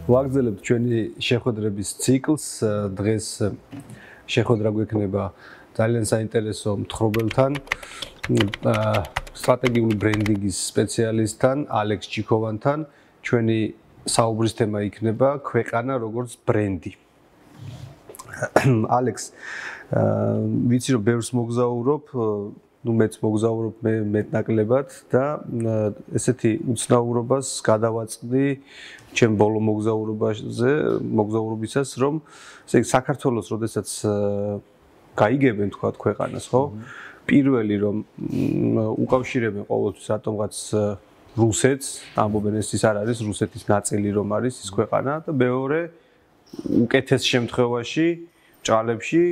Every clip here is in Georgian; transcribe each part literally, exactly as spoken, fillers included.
ვაგრძელებთ ჩვენი შეხვედრების ციკლს. დღეს შეხვედრა გვექნება ძალიან საინტერესო მთხრობელთან, სტრატეგიული ბრენდინგის სპეციალისტთან, ალექს ჩიქოვანთან. ჩვენი საუბრის თემა იქნება ქვეყანა როგორც ბრენდი. ალექს, ვიცი რომ ბევრს მოგზაურობ, ну მეც მოგზაურობ მე მეტნაკლებად და ესეთი უცნაურობას გადავაწყდი ჩემ ბოლო მოგზაურობაზე, მოგზაურობისას, რომ ესე იგი საქართველოს როდესაც გაიგებენ თქვა ქვეყანას, ხო? პირველი რომ უკავშირებენ ყოველთვის რატომღაც რუსეთს, ამბობენ ეს ის არ არის რუსეთის ნაწილი რომ არის ის ქვეყანა და მეორე უკეთეს შემთხვევაში ჭალებში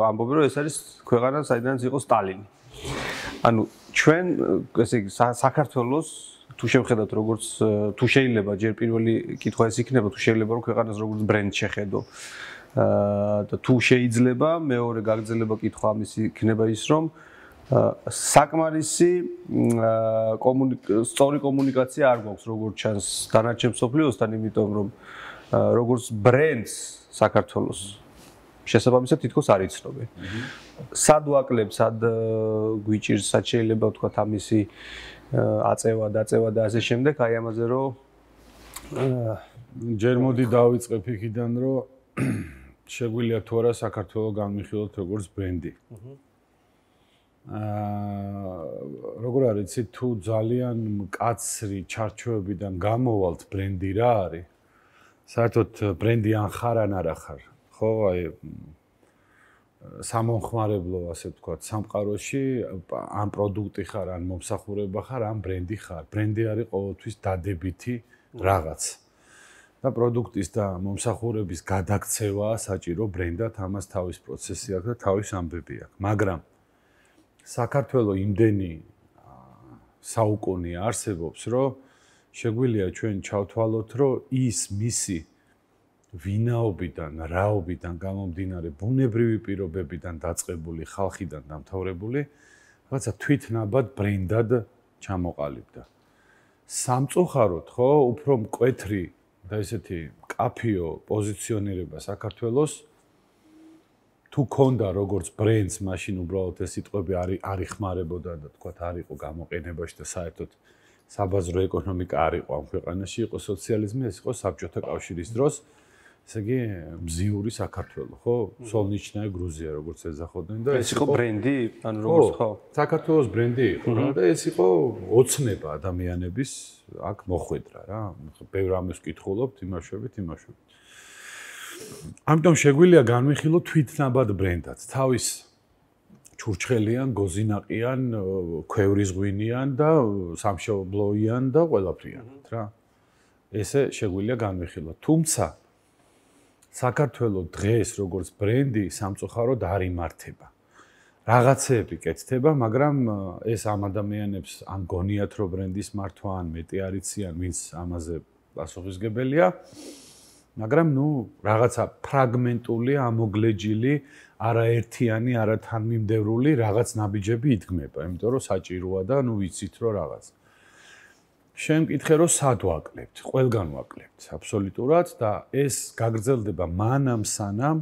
ამბობენ რომ ეს არის ქვეყანა საიდანაც იყო სტალინი. ანუ ჩვენ ესე იგი საქართველოს თუ შევხედავთ როგორც თუ შეიძლება ჯერ პირველი კითხვა ეს იქნება თუ შეიძლება რომ ქვეყანას როგორც ბრენდ შეხედო და თუ შეიძლება მეორე გაგრძელება კითხვა ამის იქნება ის რომ საკმარისი სწორი კომუნიკაცია არ გვაქვს როგორც ჩანს დანარჩენ მსოფლიოსთან, იმიტომ რომ როგორც ბრენდს საქართველოს შესაბამისად თითქოს არ იცნობენ. სად ვაკლებ, სად გვიჭირს, სად შეიძლება ვთქვათ ამისი აწევა, დაწევა და ასე შემდეგ, აი ამაზე რომ ჯერ მოდი დავიწყებ იქიდან, რომ შეგვიძლია თუ არა საქართველოს განვიხილოთ როგორც ბრენდი. აა როგორ არის, იცი თუ ძალიან მკაცრი ჩარჩოებიდან გამოვალთ ბრენდი რა არის? საერთოდ ბრენდი ან ხარ ან არა ხარ. ხო, აი სამომხმარებლო, ასე ვთქვათ, სამყაროში ან პროდუქტი ხარ, ან მომსახურება ხარ, ან ბრენდი ხარ. ბრენდი არის ყოველთვის დადებითი რაღაც. და პროდუქტის და მომსახურების გადაქცევაა საჭირო ბრენდად, ამას თავის პროცესი აქვს და თავის ამბები აქვს. მაგრამ საქართველოს იმდენი საუკუნე არსებობს, რომ შეგვიძლია ჩვენ ჩავთვალოთ, რომ ის მისი ვინაობიდან, რაობიდან გამომდინარე, ბუნებრივი პირობებიდან დაწყებული, ხალხიდან დამთავრებული, რაღაცა თვითნაბად ბრენდად ჩამოყალიბდა. სამწუხაროდ, ხო, უფრო მკვეთრი და ესეთი კაფიო პოზიციონირება საქართველოს თუ ქონდა როგორც ბრენდს, მაშინ უბრალოდ ეს სიტყვები არ იხმარებოდა და თქვათ არ იყო გამოყენებაში და საერთოდ საბაზრო ეკონომიკა არ იყო ამ ქვეყანაში, იყო სოციალიზმი, ეს იყო საბჭოთა კავშირის დროს. ესე იგი მზიური საქართველო, ხო? სოლნიჩნაია გრუზია, როგორც ეძახოდნენ და ეს იყო ბრენდი, ანუ როგორც ხო? საქართველოს ბრენდი იყო რა და ეს იყო ოცნება ადამიანების აქ მოხვედრა რა. ბევრ ამას ვკითხულობთ, იმაშვებით, იმაშვებით. ამიტომ შეგვიძლია განვიხილოთ თვითნაბად ბრენდად. თავის ჩურჩხელიან, გოზინაყიან, ქვევრისღვინიან და სამშობლოიან და ყველაფრიანად რა. ესე შეგვიძლია განვიხილოთ. თუმცა საქართველოს დღეს როგორც ბრენდი სამწუხაროდ არ იმართება. რაღაცეები კეთდება, მაგრამ ეს ამ ადამიანებს ან გონიათ რომ ბრენდის მართვა ან მეტი არ იციან, ვინც ამაზე პასუხისგებელია. მაგრამ ნუ რაღაცა ფრაგმენტული, ამოგლეჯილი, არაერთიანი, არათანმიმდევრული რაღაც ნაბიჯები იდგმება, იმიტომ რომ საჭიროა და ნუ ვიცით რომ რაღაც. შენ მკითხე რომ სად ვაკლებთ? ყველგან ვაკლებთ, აბსოლუტურად და ეს გაგრძელდება მანამ სანამ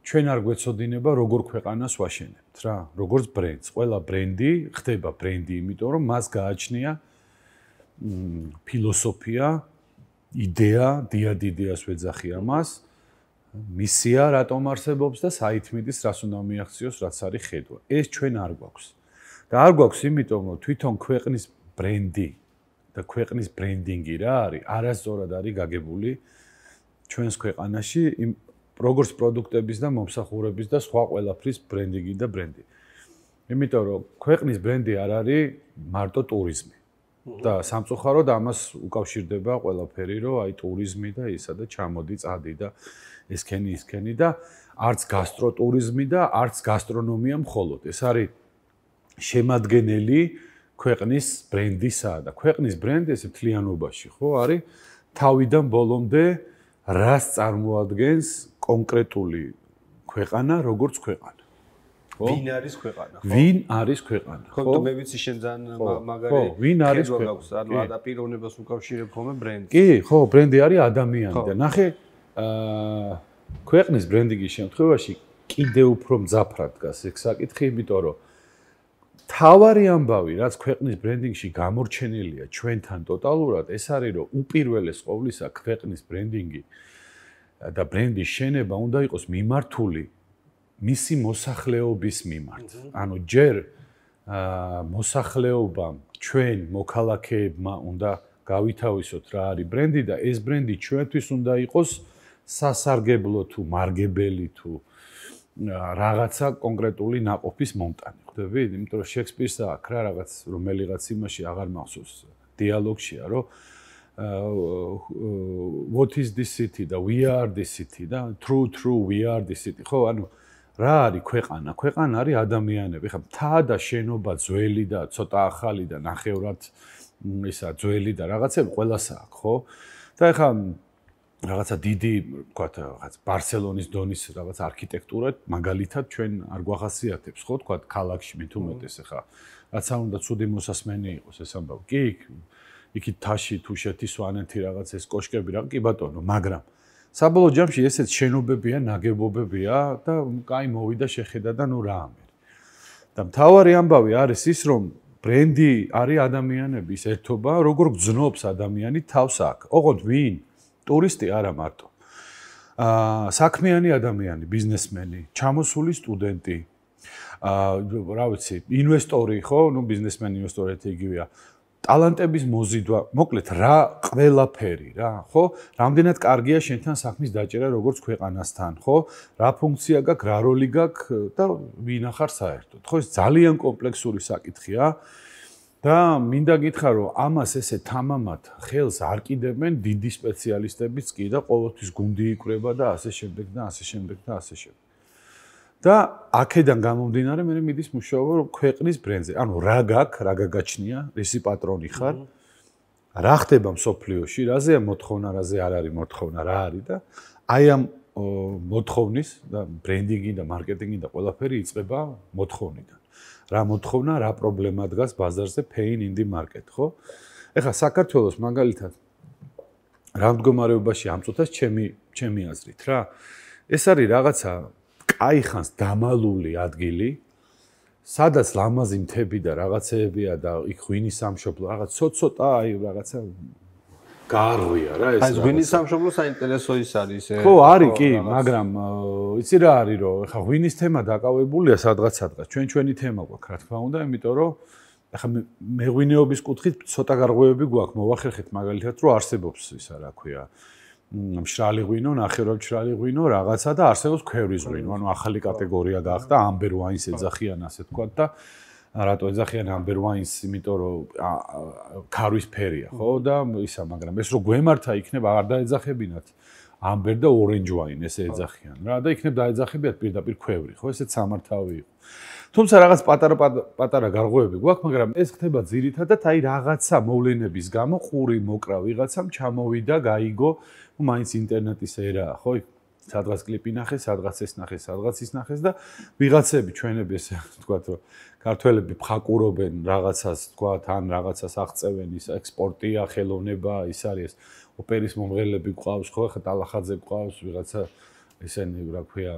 ჩვენ არ გვეცოდინება როგორ ქვეყანას ვაშენებთ რა, როგორც ბრენდს. ყველა ბრენდი ხდება ბრენდი, იმიტომ რომ მას გააჩნია ფილოსოფია, იდეა, დიად იდეას ვეძახი ამას, მისია რატომ არსებობს და საითმიდის რას უნდა მიაღწიოს, რაც არის ხედვა. ეს ჩვენ არ გვაქვს. და არ გვაქვს იმიტომ რომ თვითონ ქვეყნის ბრენდი და ქვეყნის ბრენდინგი რა არის, არასწორად არის გაგებული ჩვენს ქვეყანაში, როგორც პროდუქტების და მომსახურების და სხვა ყველაფრის ბრენდინგი და ბრენდი. იმიტომ რომ ქვეყნის ბრენდი არ არის მარტო ტურიზმი. და სამწუხაროდ ამას უკავშირდება ყველაფერი, რომ აი ტურიზმი და ისა და ჩამოდი, წადი და ესქენი, ისქენი და არც გასტროტურიზმი და არც გასტრონომია მხოლოდ. ეს არის შემადგენელი ქვეყნის ბრენდისა და ქვეყნის ბრენდი ესე მთლიანობაში, ხო, არის თავიდან ბოლომდე რას წარმოადგენს კონკრეტული ქვეყანა, როგორც ქვეყანა. ხო? ვინ არის ქვეყანა, ხო? ვინ არის ქვეყანა, ხო? ხო, მე ვიცი შენ ძალიან მაგარი. ხო, ვინ არის ქვეყანა? ანუ ადაპირონებას უკავშირებ ხოლმე ბრენდს. კი, ხო, ბრენდი არის ადამიანი და ნახე აა ქვეყნის ბრენდინგის შემთხვევაში კიდევ უფრო მძაფრად დგას ეს საკითხი, იმიტომ რომ თავარი ამბავი, რაც ქვეყნის ბრენდინგში გამორჩენილია ჩვენთან ტოტალურად, ეს არის რომ უპირველეს ყოვლისა ქვეყნის ბრენდინგი და ბრენდის შენება უნდა იყოს მიმართული მისი მოსახლეობის მიმართ. ანუ ჯერ მოსახლეობამ ჩვენ მოქალაქეებმა უნდა გავითავისოთ რა არის ბრენდი და ეს ბრენდი ჩვენთვის უნდა იყოს სასარგებლო თუ მარგებელი თუ რაღაცა კონკრეტული ნაყოფის მომტანი, ხვდებით? იმიტომ რომ შექსპირს აქვს რა რაღაც რომელიღაც იმაში აღარ მახსოვს დიალოგშია, რომ what is this city და we are this city და true true we are this city. ხო, ანუ რა არის ქვეყანა? ქვეყანა არის ადამიანები. ხა მთა და შენობა ძველი და ცოტა ახალი და ნახევრად ისა ძველი და რაღაცები ყველასა აქვს, ხო? და ეხა რაღაცა დიდი, ვთქვათ, რაღაც ბარსელონის დონის რაღაც არქიტექტურა მაგალითად ჩვენ არ გვახასიათებს, ხო, ვთქვათ, ქალაქში მით უმეტეს ეხა რაც არ უნდა ცუდი მოსასმენი იყოს ეს ამბავი. კი, იქით თაში, თუშეთი, სვანეთი რაღაც ეს კოშკები რა, კი ბატონო, მაგრამ საბოლოო ჯამში ესეც შენობებია, ნაგებობებია და კაი მოვიდა შეხედა და ნუ რა ამერი. და მთავარი ამბავი არის ის, რომ ბრენდი არის ადამიანების ერთობა, როგორ გძნობს ადამიანი თავს აქ. ოღონდ ვინ? ტურისტი არა მარტო. აა საქმიანი ადამიანი, ბიზნესმენი, ჩამოსული სტუდენტი, აა რა ვიცი, ინვესტორი, ხო? ნუ ბიზნესმენი, ინვესტორი ერთი იგივეა. ტალანტების მოზიდვა, მოკლედ რა ყველაფერი რა, ხო? რამდენად კარგია შენთან საქმის დაჭერა როგორც ქვეყანასთან, ხო? რა ფუნქცია გაქვს, რა როლი გაქვს და ვინ ახარ საერთოდ. ხო, ეს ძალიან კომპლექსური საკითხია. და მინდა გითხრა რომ ამას ესე თამამად ხელს არ კიდებენ დიდი სპეციალისტებიც კი და ყოველთვის გუნდი იკვრება და ასე შემდეგ და ასე შემდეგ და ასე შემდეგ. და აქედან გამომდინარე მე მიდის მუშაობა რომ ქვეყნის ბრენდზე, ანუ რა გაქვს, რა გაგაჩნია, რისი პატრონი ხარ, რა ხდება მსოფლიოში, რაზეა მოთხოვნა, რაზე არ არის მოთხოვნა, რა არის და აი ამ მოთხოვნის და ბრენდინგი და მარკეტინგი და ყველაფერი იწყება მოთხოვნიდან. რა მოთხოვნა, რა პრობლემა დგას ბაზარზე pain in the market, ხო? ეხლა საქართველოს მაგალითად რა მდგომარეობაში ამწუთას ჩემი ჩემი აზრით რა. ეს არის რაღაცა კაი ხანს დამალული ადგილი, სადაც ლამაზი მთები და რაღაცეებია და იქ ღვინის სამშობლო, რაღაც ცოტ-ცოტა აი რაღაცა გარღვია რა ეს. აი ღვინის სამშობლო საინტერესო ის არის ე. ხო, არის კი, მაგრამ იცი რა არის რომ ეხა ღვინის თემა დაკავებულია სადღაც სადღაც. ჩვენ ჩვენი თემა გვაქვს, რა თქმა უნდა, იმიტომ რომ ეხა მეღვინეობის კუთხით ცოტა გარღვევები გვაქვს, მოვახერხეთ მაგალითად რომ არსებობს ისა რა ქვია, მშრალი ღვინო, ნახევრადმშრალი ღვინო, რაღაცა და არსებობს ქვევრის ღვინო, ანუ ახალი კატეგორია გახდა ამბერ ვაინს ეძახიან ასე თქვა და რატო ეძახიან ამბერ ვაინს, იმიტომ რომ ქარვის ფერია, ხო და ისა, მაგრამ ეს რო გვემართა იქნება არ დაეძახებინათ ამბერ და ორენჯ ვაინ ესე ეძახიან რა და იქნებ დაეძახებიათ პირდაპირ ქვევრი, ხო ესეც სამართავი იყო. თუმცა რაღაც პატარა პატარა გარღვევები გვაქვს, მაგრამ ეს ხდება ძირითადად აი რაღაცა მოვლენების გამო ყური მოკრა ვიღაცამ ჩამოვიდა, გაიგო, მაინც ინტერნეტის ერაა, ხო? სადღაც კლიპი ნახეს, სადღაც ეს ნახეს, სადღაც ის ნახეს და ვიღაცები ჩვენები ესე ვთქვათ, რომ ქართველები ფხაკურობენ რაღაცას, ვთქვათ, ან რაღაცას აღწევენ, ის ექსპორტია, ხელოვნება, ის არის ოპერის მომღერლები გვყავს, ხო, ხა ტალახაძე გვყავს, ვიღაცა ესენი რა ქვია,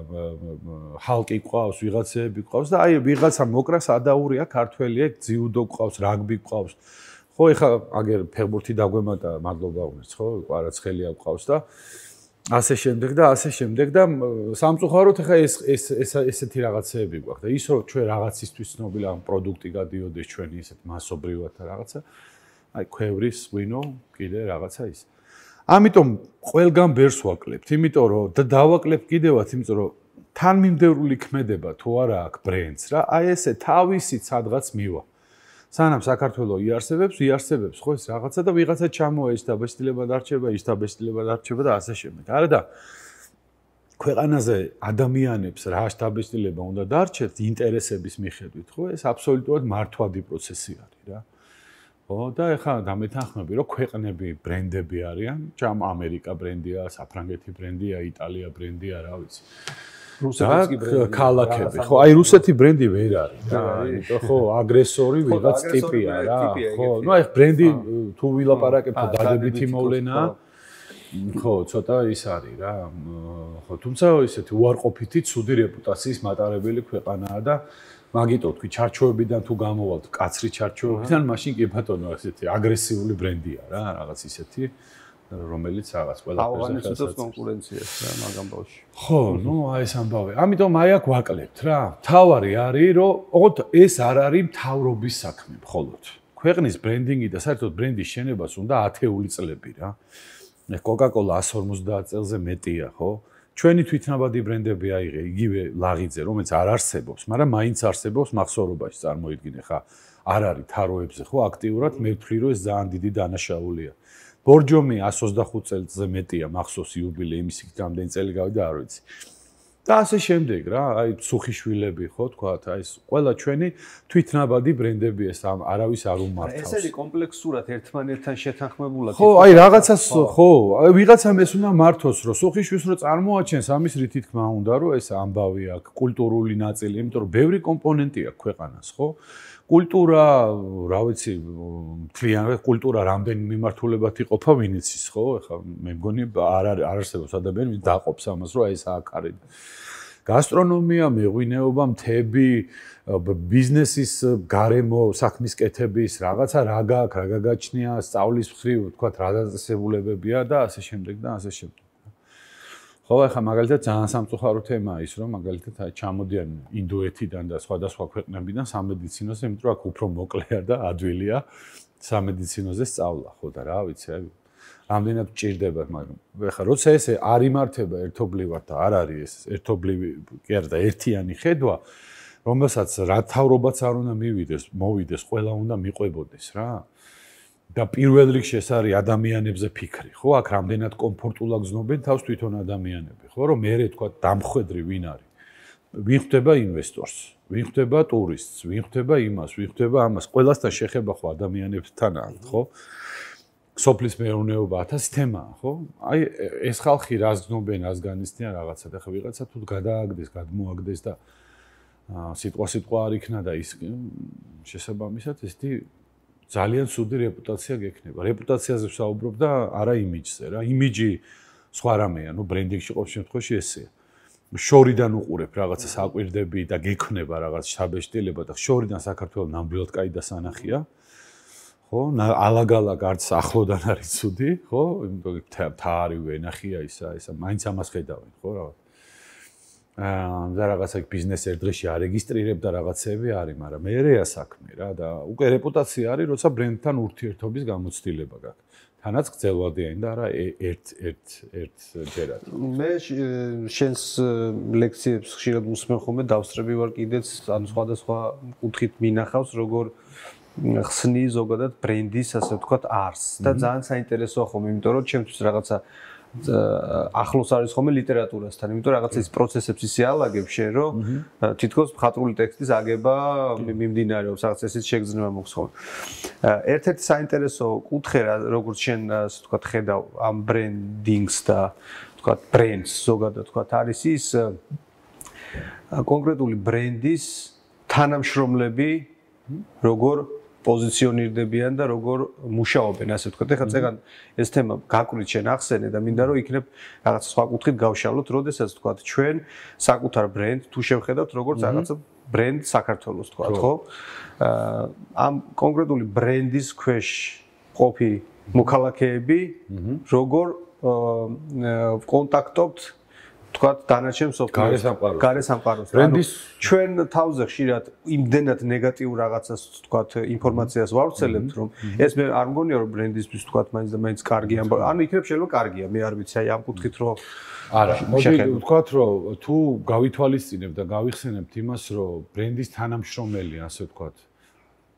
ჰალკი გვყავს, ვიღაცები გვყავს და აი ვიღაცა მოკრა სადაურია ქართველია, ძიუდო გვყავს, რაგბი გვყავს. ხო, ეხა აგერ ფეხბურთი დაგვემატა, მადლობა უნდათ, ხო, კვარაცხელია გვყავს და ასე შემდეგ და ასე შემდეგ და სამწუხაროდ ეხა ეს ეს ეს ესეთი რაღაცეები გვაქვს და ის რომ ჩვენ რაღაცისთვის ცნობილი ამ პროდუქტი გადიოდეს ჩვენი ესეთ მასობრივად რაღაცა აი ქვევრის ღვინო კიდე რაღაცა ის ამიტომ ყველგან ბერს ვაკლებთ იმიტომ რომ და დავაკლებთ კიდევაც იმიტომ რომ თანმიმდევრული ქმედება თუ არა აქვს ბრენდს რა აი ესე თავისით სადღაც მივა სანამ საქართველო იარსებებს, იარსებებს ხო ეს რაღაცა და ვიღაცა ჩამოა ის დაბეჭდილება დარჩება, ის დაბეჭდილება დარჩება და ასე შემდეგ. არა და ქვეყანაზე ადამიანებს რა დაბეჭდილება უნდა დარჩეთ ინტერესების მიხედვით, ხო? ეს აბსოლუტურად მართვადი პროცესი არის რა. ხო და ეხლა დამეთანხმები რომ ქვეყნები ბრენდები არიან, ჯამ ამერიკა ბრენდია, საფრანგეთი ბრენდია, იტალია ბრენდია, რა ვიცი. რუსეთის ბრენდი. ქალაქები. ხო, აი რუსეთი ბრენდი ვერ არის რა. იმიტომ ხო, აგრესორი ვიღაც ტიპია რა. ხო, ну აი ბრენდი თუ ვილაპარაკებ თუ დადებითი მოვლენაა. ხო, ცოტა ის არის რა. ხო, თუმცა ისეთი უარყოფითი ცუდი რეპუტაციის მატარებელი ქვეყანაა და მაგიტო თქვი ჩარჩოებიდან თუ გამოვალთ კაცრი ჩარჩოებიდან, მაშინ კი ბატონო ესეთი აგრესიული ბრენდია რა, რაღაც ისეთი, რომელიც რაღაც ყველაფერზე ხელს კონკურენციას რა მაგ ამბავში. ხო, ну აი ეს ამბავი. ამიტომ აი აქ ვაკლებთ რა. თავარი არის, რომ ოღონდ ეს არ არის მთავრობის საქმე მხოლოდ. ქვეყნის ბრენდინგი და საერთოდ ბრენდის შენებას უნდა ათეული წლები რა. Coca-Cola one fifty წელზე მეტია, ხო? ჩვენი თვითნაბადი ბრენდები აიღე, იგივე ლაღიძე, რომელიც არ არსებობს, მაგრამ მაინც არსებობს მახსოვრობაში, წარმოიდგინე ხა, არ არის თაროებზე, ხო, აქტიურად, მე ვთვლი, რომ ეს ძალიან დიდი დანაშაულია. ბორჯომი one twenty-five წელზე მეტია მახსოვს იუბილე იმის იქ რამდენი წელი გავიდა, არ ვიცი. და ასე შემდეგ რა, აი სუხიშვილები, ხო, თქვათ, აი ეს ყველა ჩვენი თვითნაბადი ბრენდები ეს არავის არ უმართავს. ეს არის კომპლექსურად ერთმანეთთან შეთანხმებულად. ხო, აი რაღაცას ხო, აი ვიღაცამ ეს უნდა მართოს, რომ სუხიშვილს რო წარმოაჩენს, ამის რითი თქმა უნდა, რომ ეს ამბავი აქვს, კულტურული ნაწილი, იმიტომ რომ ბევრი კომპონენტი აქვს ქვეყანას, ხო? კულტურა, რა ვიცი, მთლიანად კულტურა რამდენი მიმართულებად იყოფა, ვინ იცის, ხო? ეხლა მე მგონი არ არ არსებობს ადამიანი, ვინც დაყოფს ამას, რომ აი ეს აქ არის. გასტრონომია, მეღვინეობა, მთები, ბიზნესის გარემო, საქმის კეთების, რაღაცა რა გაქვს, რა გაგაჩნია, სწავლის მხრივ, თქვათ, რა დაწესებულებებია და ასე შემდეგ და ასე შემდეგ. ხო, ახლა მაგალითად ძალიან სამწუხარო თემაა ის, რომ მაგალითად აი ჩამოდიან ინდოეთიდან და სხვადასხვა ქვეყნებიდან სამედიცინოზე, იმიტომ რომ აქ უფრო მოკლეა და ადვილია სამედიცინოზე სწავლა, ხო და რა ვიცი, აი რამდენად ჭირდება, მაგრამ ახლა როცა ესე არ იმართება ერთობლივად და არ არის ეს ერთობლივი, კი არა და ერთიანი ხედვა, რომელსაც რა თავრობაც არ უნდა მივიდეს, მოვიდეს, ყველა უნდა მიყვებოდეს რა. და პირველ რიგში ეს არის ადამიანებზე ფიქრი, ხო? აქ რამდენად კომფორტულად გზნობენ თავს თვითონ ადამიანები, ხო? რომ მე თქვა დამხვედრი ვინ არის? ვინ ხვდება ინვესტორს, ვინ ხვდება ტურისტს, ვინ ხვდება იმას, ვინ ხვდება ამას, ყველასთან შეხება ხო ადამიანებთან აქვს, ხო? სოფლის მეურნეობა ათასი თემაა, ხო? აი ეს ხალხი რას გზნობენ, რას განიცდიან რაღაცა და ხა ვიღაცა თუ გადააგდეს, გადმოაგდეს და სიტყვა სიტყვა არ იქნა და ის შესაბამისად ესეთი ძალიან ცუდი რეპუტაცია გექნება. რეპუტაციაზე ვსაუბრობ და არა იმიჯზე რა. იმიჯი სხვა რამეა, ნუ ბრენდინგში ყოველ შემთხვევაში ესეა. შორიდან უყურებ რაღაცა საკვირდები და გექნება რაღაც შაბეშტილება და შორიდან საქართველოს ნამდვილად კაი დასანახია. ხო, ალაგალაგ არც ახლოდან არის ცუდი, ხო? იმიტომ მთა არის ვენახია ისა, ისა მაინც ამას ხედავენ, ხო რაღაც. აა და რაღაცა ბიზნეს ერთ დღეში არეგისტრირებ და რაღაცები არის, მაგრამ მერეა საქმე რა და უკვე რეპუტაცია არის, როცა ბრენდთან ურთიერთობის გამოცდილება გაქვს. თანაც გრძელვადიანი და არა ერთ ერთ ერთ ჯერად. მე შენს ლექციებს ხშირად უსმენ ხოლმე, დავსწრები ვარ კიდეც, ანუ სხვადასხვა კუთხით მინახავს, როგორ ხსნი ზოგადად ბრენდის, ასე ვთქვათ, არსს და ძალიან საინტერესოა ხოლმე, იმიტომ რომ ჩემთვის რაღაცა ახლოს არის ხოლმე ლიტერატურასთან, იმიტომ რაღაცა ის პროცესებს ისე ალაგებს შენ, რომ თითქოს მხატვრული ტექსტის აგება მიმდინარეობს, რაღაც ესეც შეგრძნება მოხს ხოლმე. ერთ-ერთი საინტერესო კუთხე, როგორც შენ, ასე ვთქვათ, ხედავ ამ ბრენდინგს და ვთქვათ, ბრენდს ზოგადად ვთქვათ, არის ის კონკრეტული ბრენდის თანამშრომლები, როგორ პოზიციონირდებიან და როგორ მუშაობენ, ასე ვთქვათ. ეხლა წეგან ეს თემა გაკვირით შენ ახსენე და მინდა რომ იქნებ რაღაც სხვა კუთხით გავშალოთ, როდესაც ვთქვათ, ჩვენ საკუთარ ბრენდ თუ შევხედავთ როგორც რაღაცა ბრენდ საქართველოს, ვთქვათ, ხო? ამ კონკრეტული ბრენდის ქვეშ ყოფი მოქალაქეები როგორ კონტაქტობთ თქვათ დანარჩენ სოფლიოს გარესამყაროს. ბრენდის ჩვენ თავზე ხშირად იმდენად ნეგატიურ რაღაცას თქვათ ინფორმაციას ვავრცელებთ, რომ ეს მე არ მგონია რომ ბრენდისთვის თქვათ მაინც და მაინც კარგი ამბავი. ანუ იქნებ შეიძლება კარგია, მე არ ვიცი, აი ამ კუთხით რომ არა, მოდი ვთქვათ, რომ თუ გავითვალისწინებთ და გავიხსენებთ იმას, რომ ბრენდის თანამშრომელი, ასე ვთქვათ,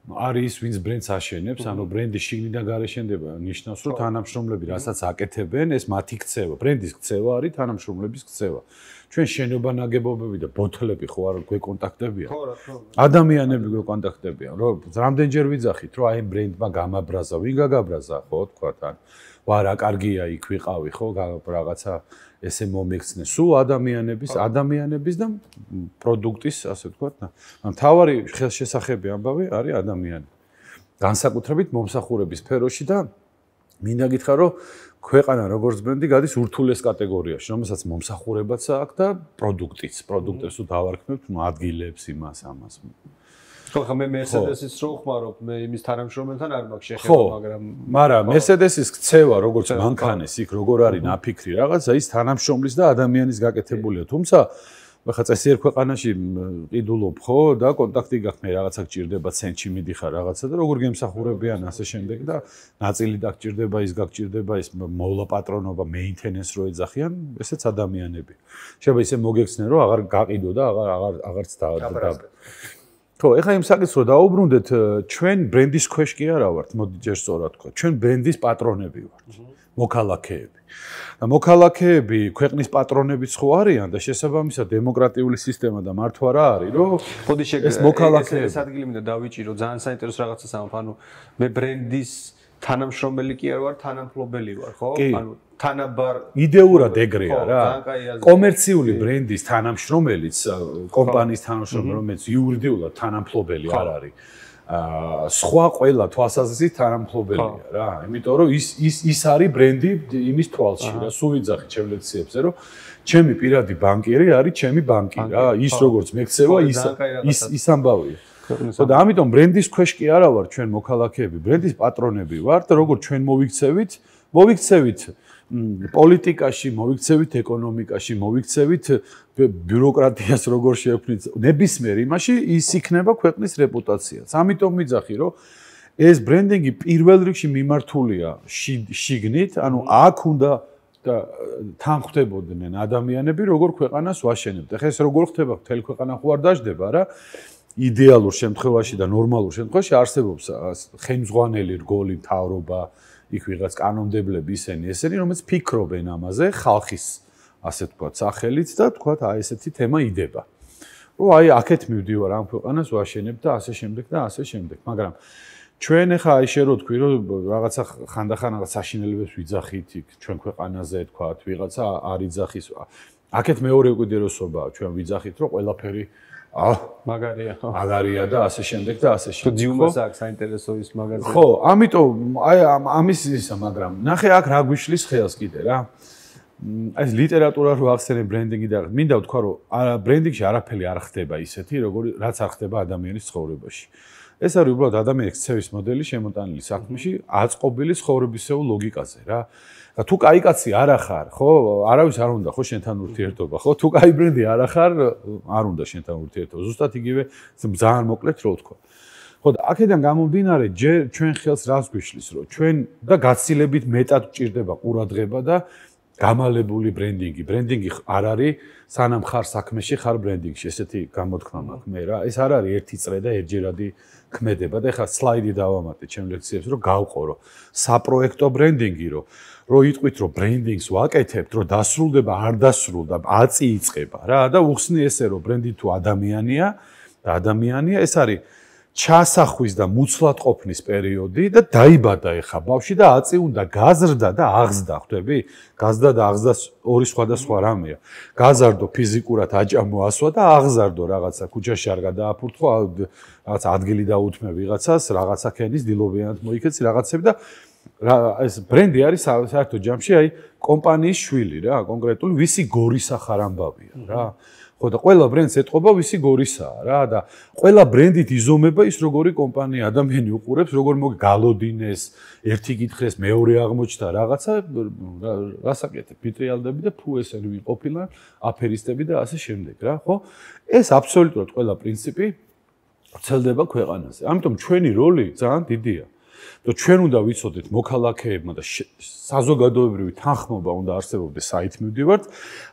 არის ვინც ბრენდს აშენებს, ანუ ბრენდი შიგნიდან გარშენდება, ნიშნავს, რომ თანამშრომლები რასაც აკეთებენ, ეს მათი ქცევა, ბრენდის ქცევა არის თანამშრომლების ქცევა. ჩვენ შენობა ნაგებობები და ბოთლები ხო არ გვეკონტაქტებიან? ხო, რა თქმა უნდა. ადამიანები გვეკონტაქტებიან, რომ რამდენჯერ ვიძახით, რომ აი ბრენდმა გამაბრაზა, ვინ გაგაბრაზა, ხო, თქვათ, ან ვა რა კარგია იქ ვიყავი, ხო, რაღაცა ესე მომიქცნე. სულ ადამიანების, ადამიანების და პროდუქტის, ასე ვთქვათ, მთავარი ხელშესახები ამბავი არის ადამიანი. განსაკუთრებით მომსახურების სფეროში და მინდა გითხრა, რომ ქვეყანა როგორც ბრენდი გადის ურთულეს კატეგორიაში, რომელსაც მომსახურებაც აქვს და პროდუქტიც, პროდუქტებს თუ დავარქმევთ, ნუ ადგილებს იმას ამას. ხო, ხა მე Mercedes-ის რო ხმარობ, მე იმის თანამშრომელთან არ მაქვს შეხება, მაგრამ მაგრამ Mercedes-ის ქცევა როგორც მანქანის იქ როგორ არის ნაფიქრი რაღაცა, ის თანამშრომლის და ადამიანის გაკეთებულია. თუმცა ხა წესიერ ქვეყანაში ყიდულობ ხო და კონტაქტი გაქვს, მე რაღაცა გჭირდება, ცენტში მიდიხარ რაღაცა და როგორ გემსახურებიან ასე შემდეგ და ნაწილი დაგჭირდება, ის გაგჭირდება, ის მოვლა პატრონობა, მეინტენენს რო ეძახიან, ესეც ადამიანები. შეიძლება ისე მოგექცნენ, რომ აღარ გაყიდო და აღარ აღარ აღარც და ხო, ეხლა იმ საკითხს რო დაუბრუნდეთ, ჩვენ ბრენდის ქვეშ კი არა ვართ, მოდი ჯერ სწორად თქვა. ჩვენ ბრენდის პატრონები ვართ, მოქალაქეები. და მოქალაქეები ქვეყნის პატრონებიც ხო არიან და შესაბამისად დემოკრატიული სისტემა და მართვა რა არის, რომ ხოდი ეს მოქალაქეები ეს ადგილი მინდა დავიჭირო, ძალიან საინტერესო რაღაცას ამბობ, ანუ მე ბრენდის თანამშრომელი კი არ ვარ, თანამფლობელი ვარ, ხო? ანუ თანაბარ იდეურად ეგრეა რა. კომერციული ბრენდის თანამშრომელიც, კომპანიის თანამშრომელი, რომელიც იურიდიულად თანამფლობელი არ არის. აა სხვა ყველა თვალსაზრისით თანამფლობელია რა. იმიტომ რომ ის ის ის არის ბრენდი იმის თვალში რა. სულ ვიძახი ჩემლექციებზე, რომ ჩემი პირადი ბანკირი არის ჩემი ბანკი რა. ის როგორც მექცევა, ის ის ის ამბავია. ხო და ამიტომ ბრენდის ქვეშ კი არა ვარ ჩვენ მოქალაქეები, ბრენდის პატრონები ვართ, როგორც ჩვენ მოვიქცევით, მოვიქცევით პოლიტიკაში, მოვიქცევით ეკონომიკაში, მოვიქცევით ბიუროკრატიას როგორ შეექმნით, ნებისმიერ იმაში ის იქნება ქვეყნის რეპუტაციაც. ამიტომ ვიძახი, რომ ეს ბრენდინგი პირველ რიგში მიმართულია შიგნით, ანუ აქ უნდა და თანხმდებოდნენ ადამიანები, როგორ ქვეყანას ვაშენებთ. ეხლა ეს როგორ ხდება, მთელი ქვეყანა ხო არ დაждდება რა. იდეალურ შემთხვევაში და ნორმალურ შემთხვევაში არსებობს ხელმძღვანელი რგოლი, მთავრობა, იქ ვიღაც კანონმდებლები ისენი, ესენი, რომელიც ფიქრობენ ამაზე, ხალხის, ასე ვთქვათ, სახელით და ვთქვათ, აი ესეთი თემა იდება. რომ აი აქეთ მივდივარ ამ ქვეყანას ვაშენებ და ასე შემდეგ და ასე შემდეგ. მაგრამ ჩვენ ახლა აი შე რო თქვი, რომ რაღაცა ხანდახან რაღაც საშინელებებს ვიძახით იქ ჩვენ ქვეყანაზე, ვთქვათ, ვიღაცა არ იძახის. აქეთ მეორე უკიდურესობაა, ჩვენ ვიძახით, რომ ყველაფერი აა მაგარია ხო მაგარია და ასე შემდეგ და ასე შემდეგ. თუ ძიუმას აქვს საინტერესო ის მაგაზე. ხო, ამიტომ აი ამის ისა, მაგრამ ნახე აქ რა გვიშლის ხელს კიდე რა. ეს ლიტერატურა რო ახსენე ბრენდინგი და მინდა ვთქვა, რომ ბრენდინგში არაფერი არ ხდება ისეთი, როგორი რაც არ ხდება ადამიანის ცხოვრებაში. ეს არის უბრალოდ ადამიანის ქცევის მოდელი შემოტანილი საქმეში, აწყობილი ცხოვრებისეულ ლოგიკაზე რა. თუ კაი კაცი არ ახარ, ხო, არავის არ უნდა ხო შენთან ურთიერთობა, ხო? თუ კაი ბრენდი არ ახარ, არ უნდა შენთან ურთიერთობა. ზუსტად იგივე ძალიან მოკლედ რო ვთქვა. ხო და აქედან გამომდინარე, ჯერ ჩვენ ხელს რას გვიშლის, რომ ჩვენ და გაცილებით მეტად გვჭირდება ყურადღება და გამალებული ბრენდინგი. ბრენდინგი არ არის სანამ ხარ საქმეში, ხარ ბრენდინგში, ესეთი გამოთქმა მაქვს მე რა. ეს არ არის ერთი წრე და ერთჯერადი ქმედება და ეხლა სლაიდი დავამატე ჩემ ლექციებს, რომ გავყო, რომ საპროექტო ბრენდინგი, რომ რო იტყვით, რომ ბრენდინგს ვაკეთებთ, რომ დასრულდება, არ დასრულდა, აწი იწყება რა და უხსნი ესე, რომ ბრენდი თუ ადამიანია და ადამიანია, ეს არის ჩასახვის და მუცლად ყოფნის პერიოდი და დაიბადა ეხა ბავშვი და აწი უნდა გაზრდა და აღზდა, ხვდები? გაზრდა და აღზდა ორი სხვადასხვა რამეა. გაზარდო ფიზიკურად აჭამო ასვა და აღზარდო რაღაცა ქუჩაში არ გადააფურთხო, რაღაცა ადგილი დაუთმე ვიღაცას, რაღაცა ქენის დილობიანად მოიქეცი რაღაცები და ეს ბრენდი არის საერთო ჯამში აი კომპანიის შვილი რა, კონკრეტული ვისი გორისა ხარ ამბავია რა. ხო და ყველა ბრენდს ეტყობა ვისი გორისაა რა და ყველა ბრენდით იზომება ის როგორი კომპანია, ადამიანი უყურებს, როგორ მოგგალოდინეს, ერთი კითხეს, მეორე აღმოჩნდა რაღაცა, რასაკეთებ, პიტრიალდები და ფუ ესენი ვიყოფილან, აფერისტები და ასე შემდეგ რა, ხო? ეს აბსოლუტურად ყველა პრინციპი ვრცელდება ქვეყანაზე. ამიტომ ჩვენი როლი ძალიან დიდია. და ჩვენ უნდა ვიცოდეთ მოქალაქეებმა და საზოგადოებრივი თანხმობა უნდა არსებობდეს საით მივდივართ,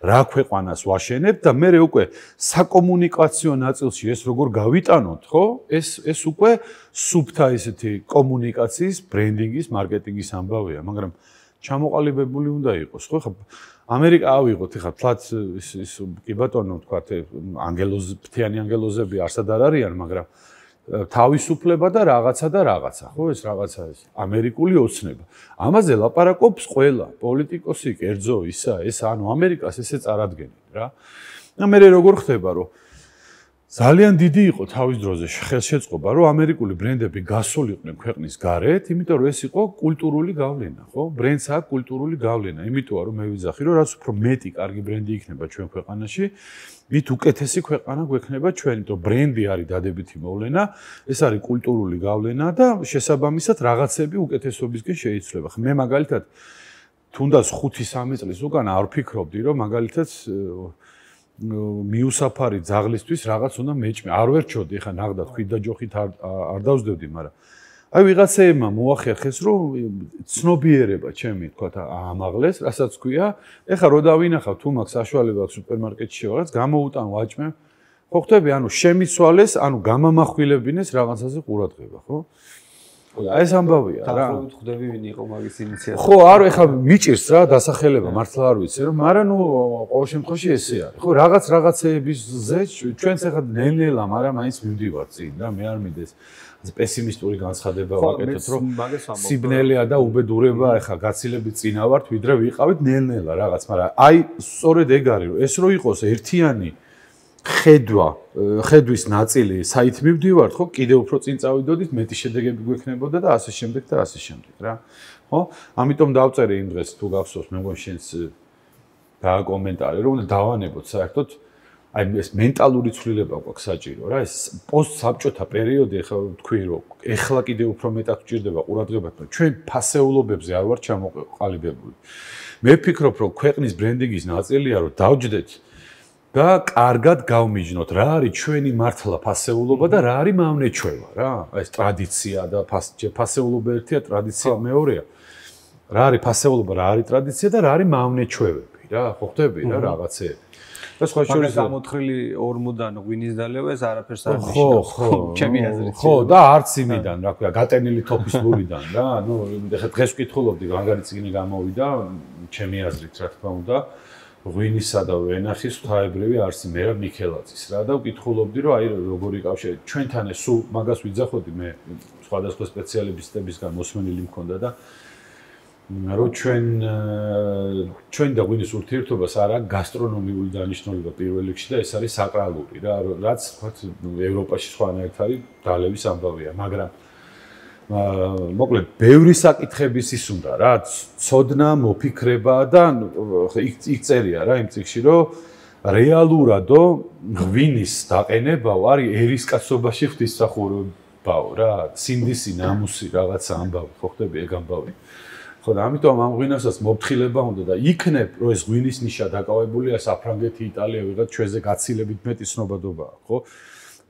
რა ქვეყანას ვაშენებთ და მე უკვე საკომუნიკაციო ნაწილში ეს როგორ გავიტანოთ, ხო? ეს ეს უკვე სუბთა ესეთი კომუნიკაციის, ბრენდინგის, მარკეტინგის ამბავია, მაგრამ ჩამოყალიბებული უნდა იყოს, ხო? ხა ამერიკა ავიღოთ, ხა თლაც ის ის კი ბატონო, თქვათ, ანგელოზ, ფთიანი ანგელოზები არსად არ არიან, მაგრამ თავისუფლება და რაღაცა და რაღაცა, ხო, ეს რაღაცა ეს ამერიკული ოცნება. ამაზე ლაპარაკობს ყველა პოლიტიკოსი, კერძო ისა, ეს ანუ ამერიკას ესე წარადგენენ რა. და მე როგორ ხდება, რომ ძალიან დიდი იყო თავის დროზე ხელშეწყობა, რომ ამერიკული ბრენდები გასულიყვნენ ქვეყნის გარეთ, იმიტომ რომ ეს იყო კულტურული გავლენა, ხო? ბრენდს აქვს კულტურული გავლენა, იმიტომ რომ მე ვიძახი, რომ რაც უფრო მეტი კარგი ბრენდი იქნება ჩვენ ქვეყანაში, მით უკეთესი ქვეყანა გვექნება ჩვენ, იმიტომ რომ ბრენდი არის დადებითი მოვლენა, ეს არის კულტურული გავლენა და შესაბამისად რაღაცები უკეთესობისკენ შეიცვლება. მე მაგალითად თუნდაც ხუთი სამი წლის უკან არ ვფიქრობდი, რომ მაგალითად მიუსაფარი ძაღლისთვის რაღაც უნდა მეჭმე. არ ვერჩოდი, ეხა ნახდა თქვით და ჯოხით არ არ დავსდევდი, მაგრამ აი ვიღაცეებმა მოახერხეს, რომ ცნობიერება ჩემი თქვათ ამაღლეს, რასაც ქვია, ეხა რო დავინახავ თუ მაქვს საშუალება სუპერმარკეტში რაღაც გამოუტან ვაჭმე. ხო ხვდები, ანუ შემიცვალეს, ანუ გამამახვილებინეს რაღაცაზე ყურადღება, ხო? აი ეს ამბავია რა. დაახლოებით ხვდები ვინ იყო მაგის ინიციატორი. ხო, არ ეხა მიჭირს რა დასახელება, მართლა არ ვიცი, რომ მაგრამ ნუ ყოველ შემთხვევაში ესე არის. ხო, რაღაც რაღაცეებისზე ჩვენც ეხა ნელ-ნელა, მაგრამ მაინც მივდივარ წინ რა, მე არ მიდეს პესიმისტური განცხადება ვაკეთოთ, რომ სიბნელეა და უბედურება ეხა გაცილებით წინა ვართ, ვიდრე ვიყავით ნელ-ნელა რაღაც, მაგრამ აი სწორედ ეგ არის, რომ ეს რო იყოს ერთიანი ხედვა, ხედვის ნაწილი, საით მივდივართ, ხო, კიდევ უფრო წინ წავიდოდით, მეტი შედეგები გვექნებოდა და ასე შემდეგ და ასე შემდეგ, რა. ხო? ამიტომ დავწერე იმ დღეს თუ გახსოვს, მე მგონი შენს დააკომენტარე, რომ უნდა დავანებოთ საერთოდ აი ეს მენტალური ცვლილება გვაქვს საჭირო, რა, ეს პოსტსაბჭოთა პერიოდი, ახლა ვთქვი, რომ ეხლა კიდევ უფრო მეტად გვჭირდება ყურადღება, რომ ჩვენ ფასეულობებზე არ ვართ ჩამოყალიბებული. მე ვფიქრობ, რომ ქვეყნის ბრენდინგის ნაწილია, რომ დავჯდეთ და კარგად გავმიჯნოთ, რა არის ჩვენი მართლა ფასეულობა და რა არის მავნეჩვევა, რა. ეს ტრადიცია და ფასეულობა ერთია, ტრადიცია მეორეა. რა არის ფასეულობა, რა არის ტრადიცია და რა არის მავნეჩვევები, რა, ხო ხვდები რა რაღაცეები. და სხვა შორის გამოთხრილი ორმოდან ღვინის დალევა ეს არაფერს არ ნიშნავს. ხო, ხო, ჩემი აზრით. ხო, და არც იმიდან, რა ქვია, გატენილი თოფის ლურიდან, რა. ნუ ეხლა დღეს ვკითხულობდი, რანგარი წიგნი გამოვიდა, ჩემი აზრით, რა თქმა უნდა. ღვინისა და ვენახის ღვთაებრივი არსი მერაბ ნიქელაძის რა და ვკითხულობდი რომ აი როგორი კავშირი ჩვენთან ეს სულ მაგას ვიძახოდი მე სხვადასხვა სპეციალისტებისგან მოსმენილი მქონდა და რომ ჩვენ ჩვენ და ღვინის ურთიერთობას არ აქვს გასტრონომიული დანიშნულება პირველ რიგში და ეს არის საკრალური რა რაც თქვათ ევროპაში სხვანაირად არის დალევის ამბავია მაგრამ მოკლედ ბევრი საკითხების ის უნდა რა ცოდნა მოფიქრება და იქ იქ წერია რა იმ წიგში რომ რეალურადო ღვინის დაყენებაო არის ერისკაცობაში ღვთისმსახურებაო რა სინდისი ნამუსი რაღაცა ამბავი ხო ხდები ეგ ამბავი ხო და ამიტომ ამ ღვინასაც მოფრთხილება უნდა და იქნებ რომ ეს ღვინის ნიშა დაკავებულია საფრანგეთი იტალია ვიღაც ჩვენზე გაცილებით მეტი ცნობადობაა ხო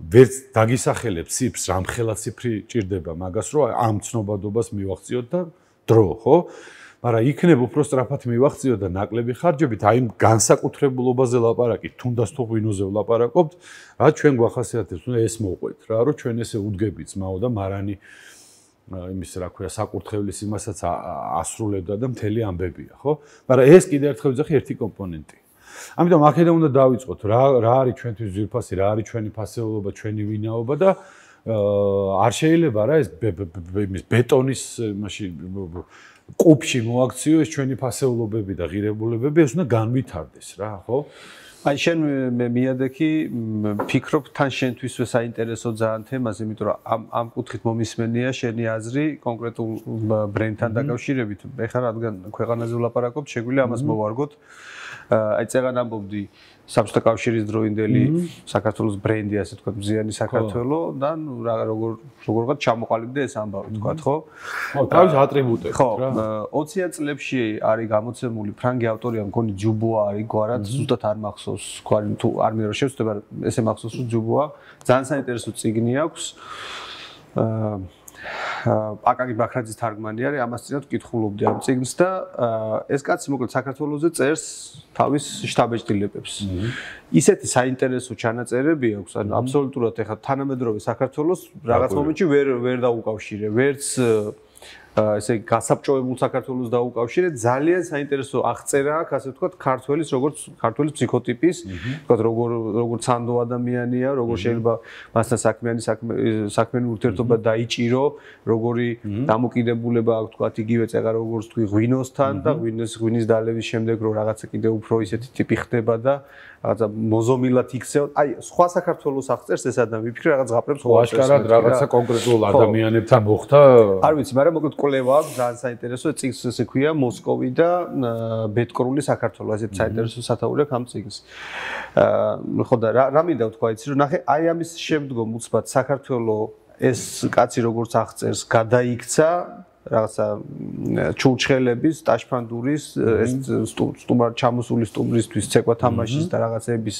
ვერც დაგისახელებს ციფრს რამხელა ციფრი ჭირდება მაგას რომ ამ ცნობადობას მივახციოთ და დრო ხო მაგრამ იქნებ უფრო სწრაფად მივახციოთ და ნაკლები ხარჯებით აი განსაკუთრებულობაზე ლაპარაკით თუნდაც თუ ღვინოზე ვლაპარაკობთ რა ჩვენ გვახასიათებს უნდა ეს მოყვეთ რა რომ ჩვენ ესე უდგებით ძმაო და მარანი იმის რა ქვია საკურთხევლის იმასაც ასრულებდა და მთელი ამბებია ხო მაგრამ ეს კიდე ერთხელ ვიძახი ერთი კომპონენტი ამიტომ აქედან უნდა დავიწყოთ რა რა არის ჩვენთვის ძვირფასი რა არის ჩვენი ფასეულობა ჩვენი ვინაობა და არ შეიძლება რა ეს იმის ბეტონის იმაში კუბში მოაქციო ეს ჩვენი ფასეულობები და ღირებულებები ეს უნდა განვითარდეს რა ხო აი შენ მე მიადექი ფიქრობ თან შენთვისვე საინტერესო ძალიან თემაზე იმიტომ რომ ამ ამ კუთხით მომისმენია შენი აზრი კონკრეტულ ბრენდთან დაკავშირებით ეხლა რადგან ქვეყანაზე ვლაპარაკობთ შეგვიძლია ამას მოვარგოთ აი წეგან ამბობდი საბჭოთა კავშირის დროინდელი საქართველოს ბრენდი ასე თქვა მზიანი საქართველო და რა როგორ როგორღაც ჩამოყალიბდა ეს ამბავი თქვა ხო ხო თავის ატრიბუტები ხო ოციან წლებში არის გამოცემული ფრანგი ავტორია მგონი ჯუბოა არის გვარად ზუსტად არ მახსოვს გვარი თუ არ მინდა რომ შევწდება ესე მახსოვს რომ ჯუბოა ძალიან საინტერესო წიგნი აქვს აკაკი ბაქრაძის თარგმანი არის ამას წინათ ვკითხულობდი ამ წიგნს და ეს კაცი მოკლედ საქართველოზე წერს თავის შტაბ-ეჭდილებებს. ისეთი საინტერესო ჩანაწერები აქვს, ანუ აბსოლუტურად ეხლა თანამედროვე საქართველოს რაღაც მომენტში ვერ ვერ დაუკავშირე, ვერც ესე გასაბჭოებულ საქართველოს დაუკავშირეთ, ძალიან საინტერესო აღწერა აქვს, ასე ვთქვათ, ქართველის როგორც ქართველის ფსიქოტიპის, ვთქვათ, როგორ როგორ ცანდო ადამიანია, როგორ შეიძლება მასთან საქმიანი საქმიანი ურთიერთობა დაიჭირო, როგორი დამოკიდებულება აქვს, ვთქვათ, იგივე წეღა როგორც თქვი ღვინოსთან და ღვინოს ღვინის დალევის შემდეგ რო რაღაცა კიდე უფრო ისეთი ტიპი ხდება და რაღაცა მოზომილად იქცევა. აი, სხვა საქართველოს აღწერს ეს ადამიანი, ვიფიქრე რაღაც ზღაპრებს ხო აღწერს. რაღაცა კონკრეტულ ადამიანებთან მოხდა. არ ვიცი, მაგრამ მოკლედ კვლევა აქვს ძალიან საინტერესო, წიგნს ესე ქვია მოსკოვი და ბედკრული საქართველო, ესეც საინტერესო სათაური აქვს ამ წიგნს. აა ხო და რა მინდა ვთქვა იცი რომ ნახე, აი ამის შემდგომ უცბად საქართველო ეს კაცი როგორც აღწერს, გადაიქცა რაღაცა ჩურჩხელების, ტაშფანდურის, ეს სტუმარ ჩამოსული სტუმრისთვის ცეკვა თამაშის და რაღაცების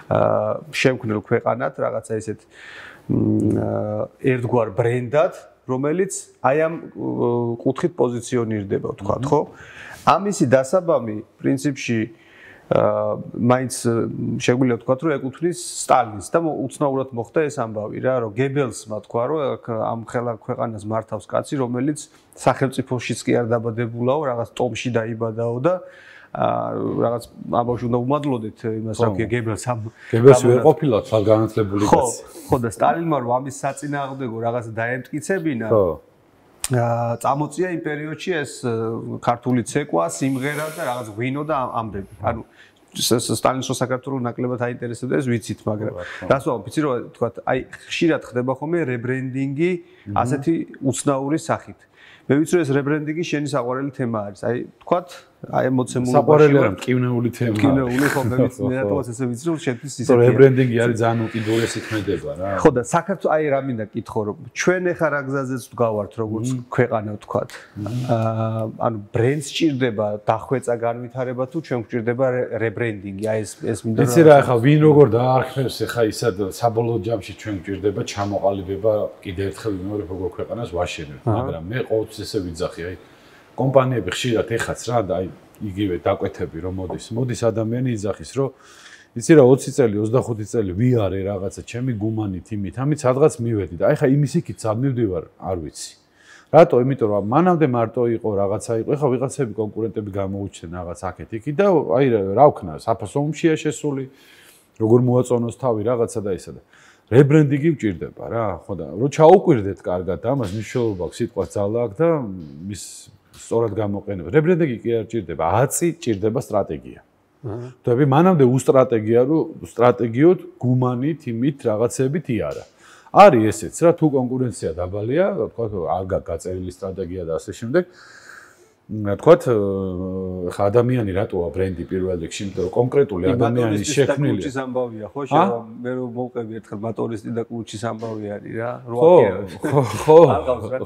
აა შემქმნელ ქვეყანად, რაღაცა ესეთ ერთგვარ ბრენდად, რომელიც აი ამ კუთხით პოზიციონირდება, ვთქვათ, ხო? ამისი დასაბამი პრინციპში აა მაინც შეგვიძლია ვთქვათ, რომ ეკუთვნის სტალინს და უცნაურად მოხდა ეს ამბავი რა, რომ გებელსმა თქვა, რომ ამ ხელა ქვეყანას მართავს კაცი, რომელიც სახელმწიფოშიც კი არ დაბადებულაო, რაღაც ტომში დაიბადაო და აა რაღაც ამბავში უნდა უმადლოდეთ იმას, რა ქვია, გებელს ამ გებელს ვერ ყოფილა თვალ განათლებული კაცი. ხო და სტალინმა რომ ამის საწინააღმდეგო რაღაც დაემტკიცებინა. ხო. აა წამოწია იმ პერიოდში ეს ქართული ცეკვა, სიმღერა და რაღაც ღვინო და ამბები. ანუ სტალინის რო საქართველოს ნაკლებად აინტერესებდა ეს ვიცით, მაგრამ რას ვამბობ, იცი რომ თქვათ, აი ხშირად ხდება ხოლმე რებრენდინგი ასეთი უცნაური სახით. მე ვიცი რომ ეს რებრენდინგი შენი საყვარელი თემა არის. აი თქვათ, აი მოცემულობაში საყვარელი არა, მკივნეული თემა. მკივნეული ხო, მე ვიცი, მე რატომაც ესე ვიცი რომ შენთვის ისე. რებრენდინგი არის ძალიან უკიდურესი ქმედება რა. ხო და საქართველოს აი რა მინდა კითხო რომ ჩვენ ეხა რა გზაზეც ვდგავართ როგორც ქვეყანა ვთქვათ. აა ანუ ბრენდს ჭირდება დახვეწა განვითარება თუ ჩვენ გვჭირდება რებრენდინგი. აი ეს ეს მინდა რა. იცი რა ახლა ვინ როგორ დაარქმევს ახლა ისად საბოლოო ჯამში ჩვენ გვჭირდება ჩამოყალიბება კიდევ ერთხელ მეორე როგორ ქვეყანას ვაშენებთ, მაგრამ მე ყოველთვის ესე ვიძახი აი კომპანიები ხშირად ეხაც რა და აი იგივე დაკვეთები რომ მოდის მოდის ადამიანი იძახის რომ იცი რა ოცი წელი ოცდახუთი წელი ვიარე რაღაცა ჩემი გუმანით იმით ამით სადღაც მივედი და აი ხა იმის იქით სად მივდივარ არ ვიცი რატო იმიტომ რომ მანამდე მარტო იყო რაღაცა იყო ეხა ვიღაცები კონკურენტები გამოუჩნდნენ რაღაც აქეთ იქით და აი რა ვქნა საფასო ომშია შესული როგორ მოაწონოს თავი რაღაცა და ისა და რებრენდინგი ვჭირდება რა ხო და რო ჩაუკვირდეთ კარგად ამას მნიშვნელობა აქვს სიტყვა ძალა აქვს და მის სწორად გამოყენება. რებრენდინგი კი არ ჭირდება, აწი ჭირდება სტრატეგია. თქვი მანამდე უსტრატეგია რომ სტრატეგიოდ გუმანით იმით რაღაცებით იარა. არის ესეც რა თუ კონკურენცია დაბალია, თქვა არ გაწერილი სტრატეგია და ასე შემდეგ. თქვა ხა ადამიანი რატოა ბრენდი პირველ რიგში, იმიტომ რომ კონკრეტული ადამიანის შექმნილი. კუჩის ამბავია, ხო, შევა მე რომ მოვყევი ერთხელ მოტორისტი და კუჩის ამბავი არის რა. ხო, ხო. არ ყავს რა.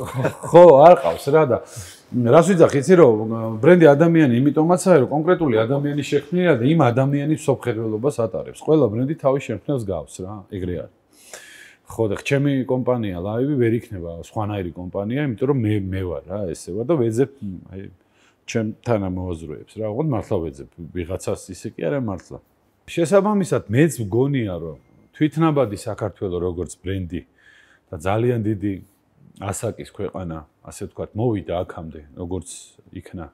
ხო, არ ყავს რა და რას ვიძახი, იცი რომ ბრენდი ადამიანი იმიტომაც არის, რომ კონკრეტული ადამიანის შექმნილია და იმ ადამიანის სოფხერველობას ატარებს. ყველა ბრენდი თავის შემქმნელს გავს რა, ეგრე არის. ხო და ჩემი კომპანია ლაივი ვერ იქნება სხვანაირი კომპანია, იმიტომ რომ მე მე ვარ რა, ესე ვარ და ვეძებ აი ჩემ თანამოაზრეებს რა, ოღონდ მართლა ვეძებ ვიღაცას ისე კი არა მართლა. შესაბამისად მეც მგონია რომ თვითნაბადი საქართველოს როგორც ბრენდი და ძალიან დიდი ასაკის ქვეყანა, ასე ვთქვათ, მოვიდა აქამდე, როგორც იქნა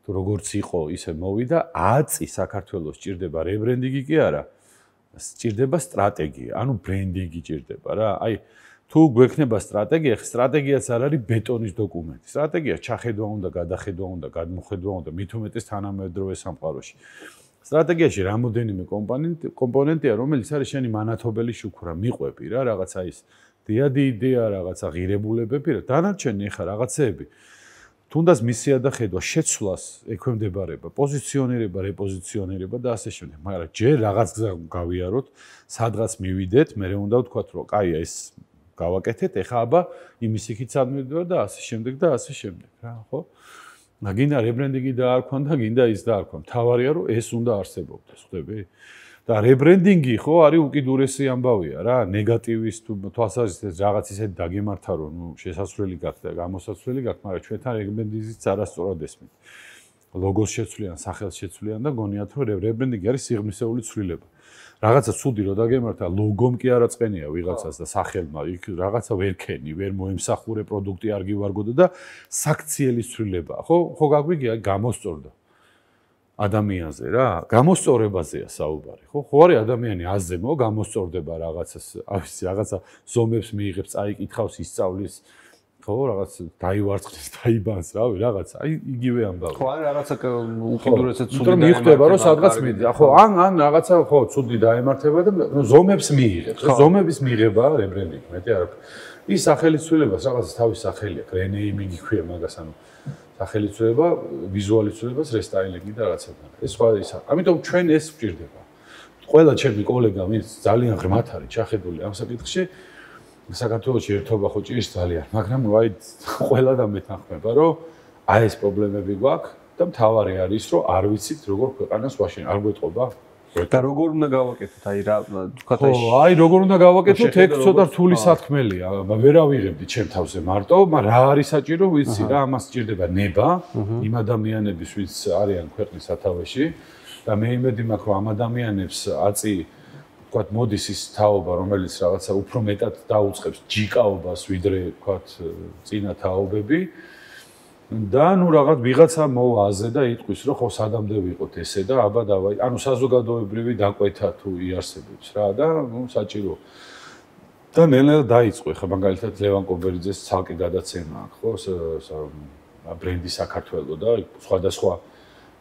თუ როგორც იყო, ისე მოვიდა, აწი საქართველოს ჭირდება რებრენდინგი კი არა. სჭირდება სტრატეგია, ანუ ბრენდინგი ჭირდება რა. აი, თუ გვექნება სტრატეგია, სტრატეგიაც არ არის ბეტონის დოკუმენტი. სტრატეგია ჩახედვა უნდა, გადახედვა უნდა, გადმოხედვა უნდა, მით უმეტეს თანამედროვე სამყაროში. სტრატეგიაში რამოდენიმე კომპონენტი კომპონენტია, რომელიც არის შენი მანათობელი შუქურა, მიყვები რა, რაღაცა ის დიადი იდეა, რაღაცა ღირებულებები რა. დანარჩენი ახლა რაღაცეები თუნდაც მისია და ხედვა შეცვლას ექვემდებარება, პოზიციონირება, რეპოზიციონირება და ასე შემდეგ. მაგრამ ჯერ რაღაც გზა გავიაროთ, სადღაც მივიდეთ, მე უნდა ვთქვათ, რომ კაია ეს გავაკეთეთ, ეხა აბა იმის იქით სად მივდივარ და ასე შემდეგ და ასე შემდეგ, რა, ხო? და გინდა რებრენდინგი დაარქვან და გინდა ის დაარქვან. მთავარია რომ ეს უნდა არსებობდეს, ხვდები? და რებრენდინგი ხო არის უკიდურესი ამბავია რა, ნეგატივის თუ თვალსაზრისით რაღაც ისეთი დაგემართა რომ ნუ შესაძლებელი გაქვს და გამოსაცვლელი გაქვს, მაგრამ ჩვენთან რებრენდინგიც არასწორად ესმით. ლოგოს შეცვლიან, სახელს შეცვლიან და გონიათ რომ რებრენდინგი არის სიღრმისეული ცვლილება. რაღაცა ცუდი რო დაგემართა, ლოგომ კი არა წენია ვიღაცას და სახელმა, იქ რაღაცა ვერ ქენი, ვერ მოემსახურე პროდუქტი არ გივარგოდო და საქციელის ცვლილებაა, ხო? ხო გაგვიგია, გამოსწორდა ადამიანზე რა, გამოსწორებაზეა საუბარი, ხო? ხო არის ადამიანი აზემო, გამოსწორდება რაღაცას, ავიცი, რაღაცა ზომებს მიიღებს, წაიკითხავს, ისწავლის ხო რაღაც დაივარცხნის, დაიბანს, რავი, რაღაცა, აი იგივე ამბავი. ხო, ან რაღაცა უკიდურესად ცუდი და მიხვდება, რომ სადღაც მიდია, ხო, ან ან რაღაცა ხო, ცუდი დაემართება და ზომებს მიიღებს. ზომების მიღება რებრენდინგი, მეტი არაფერი. ის სახელის ცვლილებას რაღაცა თავის სახელი აქვს, რენეიმინგი ქვია მაგას, ანუ სახელის ცვლილება, ვიზუალის ცვლილებას რესტაილინგი და რაღაცა. ეს სხვა ისა. ამიტომ ჩვენ ეს გვჭირდება. ყველა ჩემი კოლეგა, ვინც ძალიან ღრმათ არის ჩახედული ამ საკითხში, საქართველოში ერთობა ხო ჭირს ძალიან, მაგრამ ვაი ყველა და მეთანხმება, რომ აი ეს პრობლემები გვაქვს და მთავარი არის, რომ არ ვიცით როგორ ქვეყანას ვაშენ, არ გვეტყობა. და როგორ უნდა გავაკეთოთ, აი რა თქვათ აი ხო, აი როგორ უნდა გავაკეთოთ, ეგ ცოტა რთული სათქმელია, ვერ ავიღებდი ჩემ თავზე მარტო, მაგრამ რა არის საჭირო, ვიცი რა, ამას სჭირდება ნება იმ ადამიანების, ვინც არიან ქვეყნის სათავეში და მე იმედი მაქვს, რომ ამ ადამიანებს აწი ვთქვათ, მოდის ის თაობა, რომელიც რაღაცა უფრო მეტად დაუწყებს ჯიკაობას, ვიდრე ვთქვათ, წინა თაობები. და ნუ რაღაც ვიღაცა მოვაზე და იტყვის, რომ ხო სადამდე ვიყოთ ესე და აბა დავაი, ანუ საზოგადოებრივი დაკვეთა თუ იარსებებს რა და ნუ საჭირო. და ნელ-ნელა დაიწყო, ხა მაგალითად ლევან კობერიძეს ცალკე გადაცემა აქვს, ხო, ბრენდი საქართველო და სხვადასხვა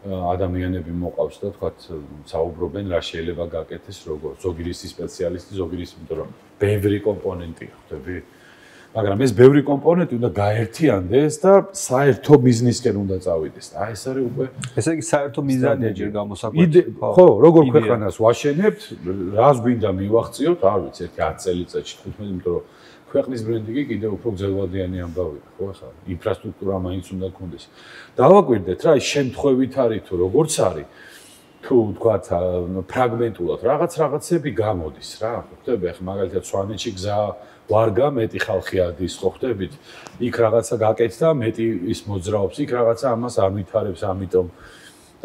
ადამიანები მოყავს და თქვათ საუბრობენ რა შეიძლება გაკეთდეს როგორ ზოგი რისი სპეციალისტი ზოგი რისი იმიტომ რომ ბევრი კომპონენტია ხვდები მაგრამ ეს ბევრი კომპონენტი უნდა გაერთიანდეს და საერთო ბიზნესკენ უნდა წავიდეს და აი ეს არის უკვე ესე იგი საერთო მიზანია ჯერ გამოსაკვეთი ხო როგორ ქვეყანას ვაშენებთ რას გვინდა მივახციოთ არ ვიცი ერთი ათი წელიწადში თხუთმეტი იმიტომ რომ ქვეყნის ბრენდინგი კიდევ უფრო გრძელვადიანი ამბავია, ხო ახლა ინფრასტრუქტურა მაინც უნდა გქონდეს. დავაკვირდეთ რა, ის შემთხვევით არის თუ როგორც არის, თუ თქვათ ფრაგმენტულად რაღაც რაღაცები გამოდის რა, ხვდები, ახლა მაგალითად სვანეთში გზა ვარგა მეტი ხალხი ადის, ხო ხვდებით, იქ რაღაცა გაკეთდა, მეტი ის მოძრაობს, იქ რაღაცა ამას არ ვითარებს, ამიტომ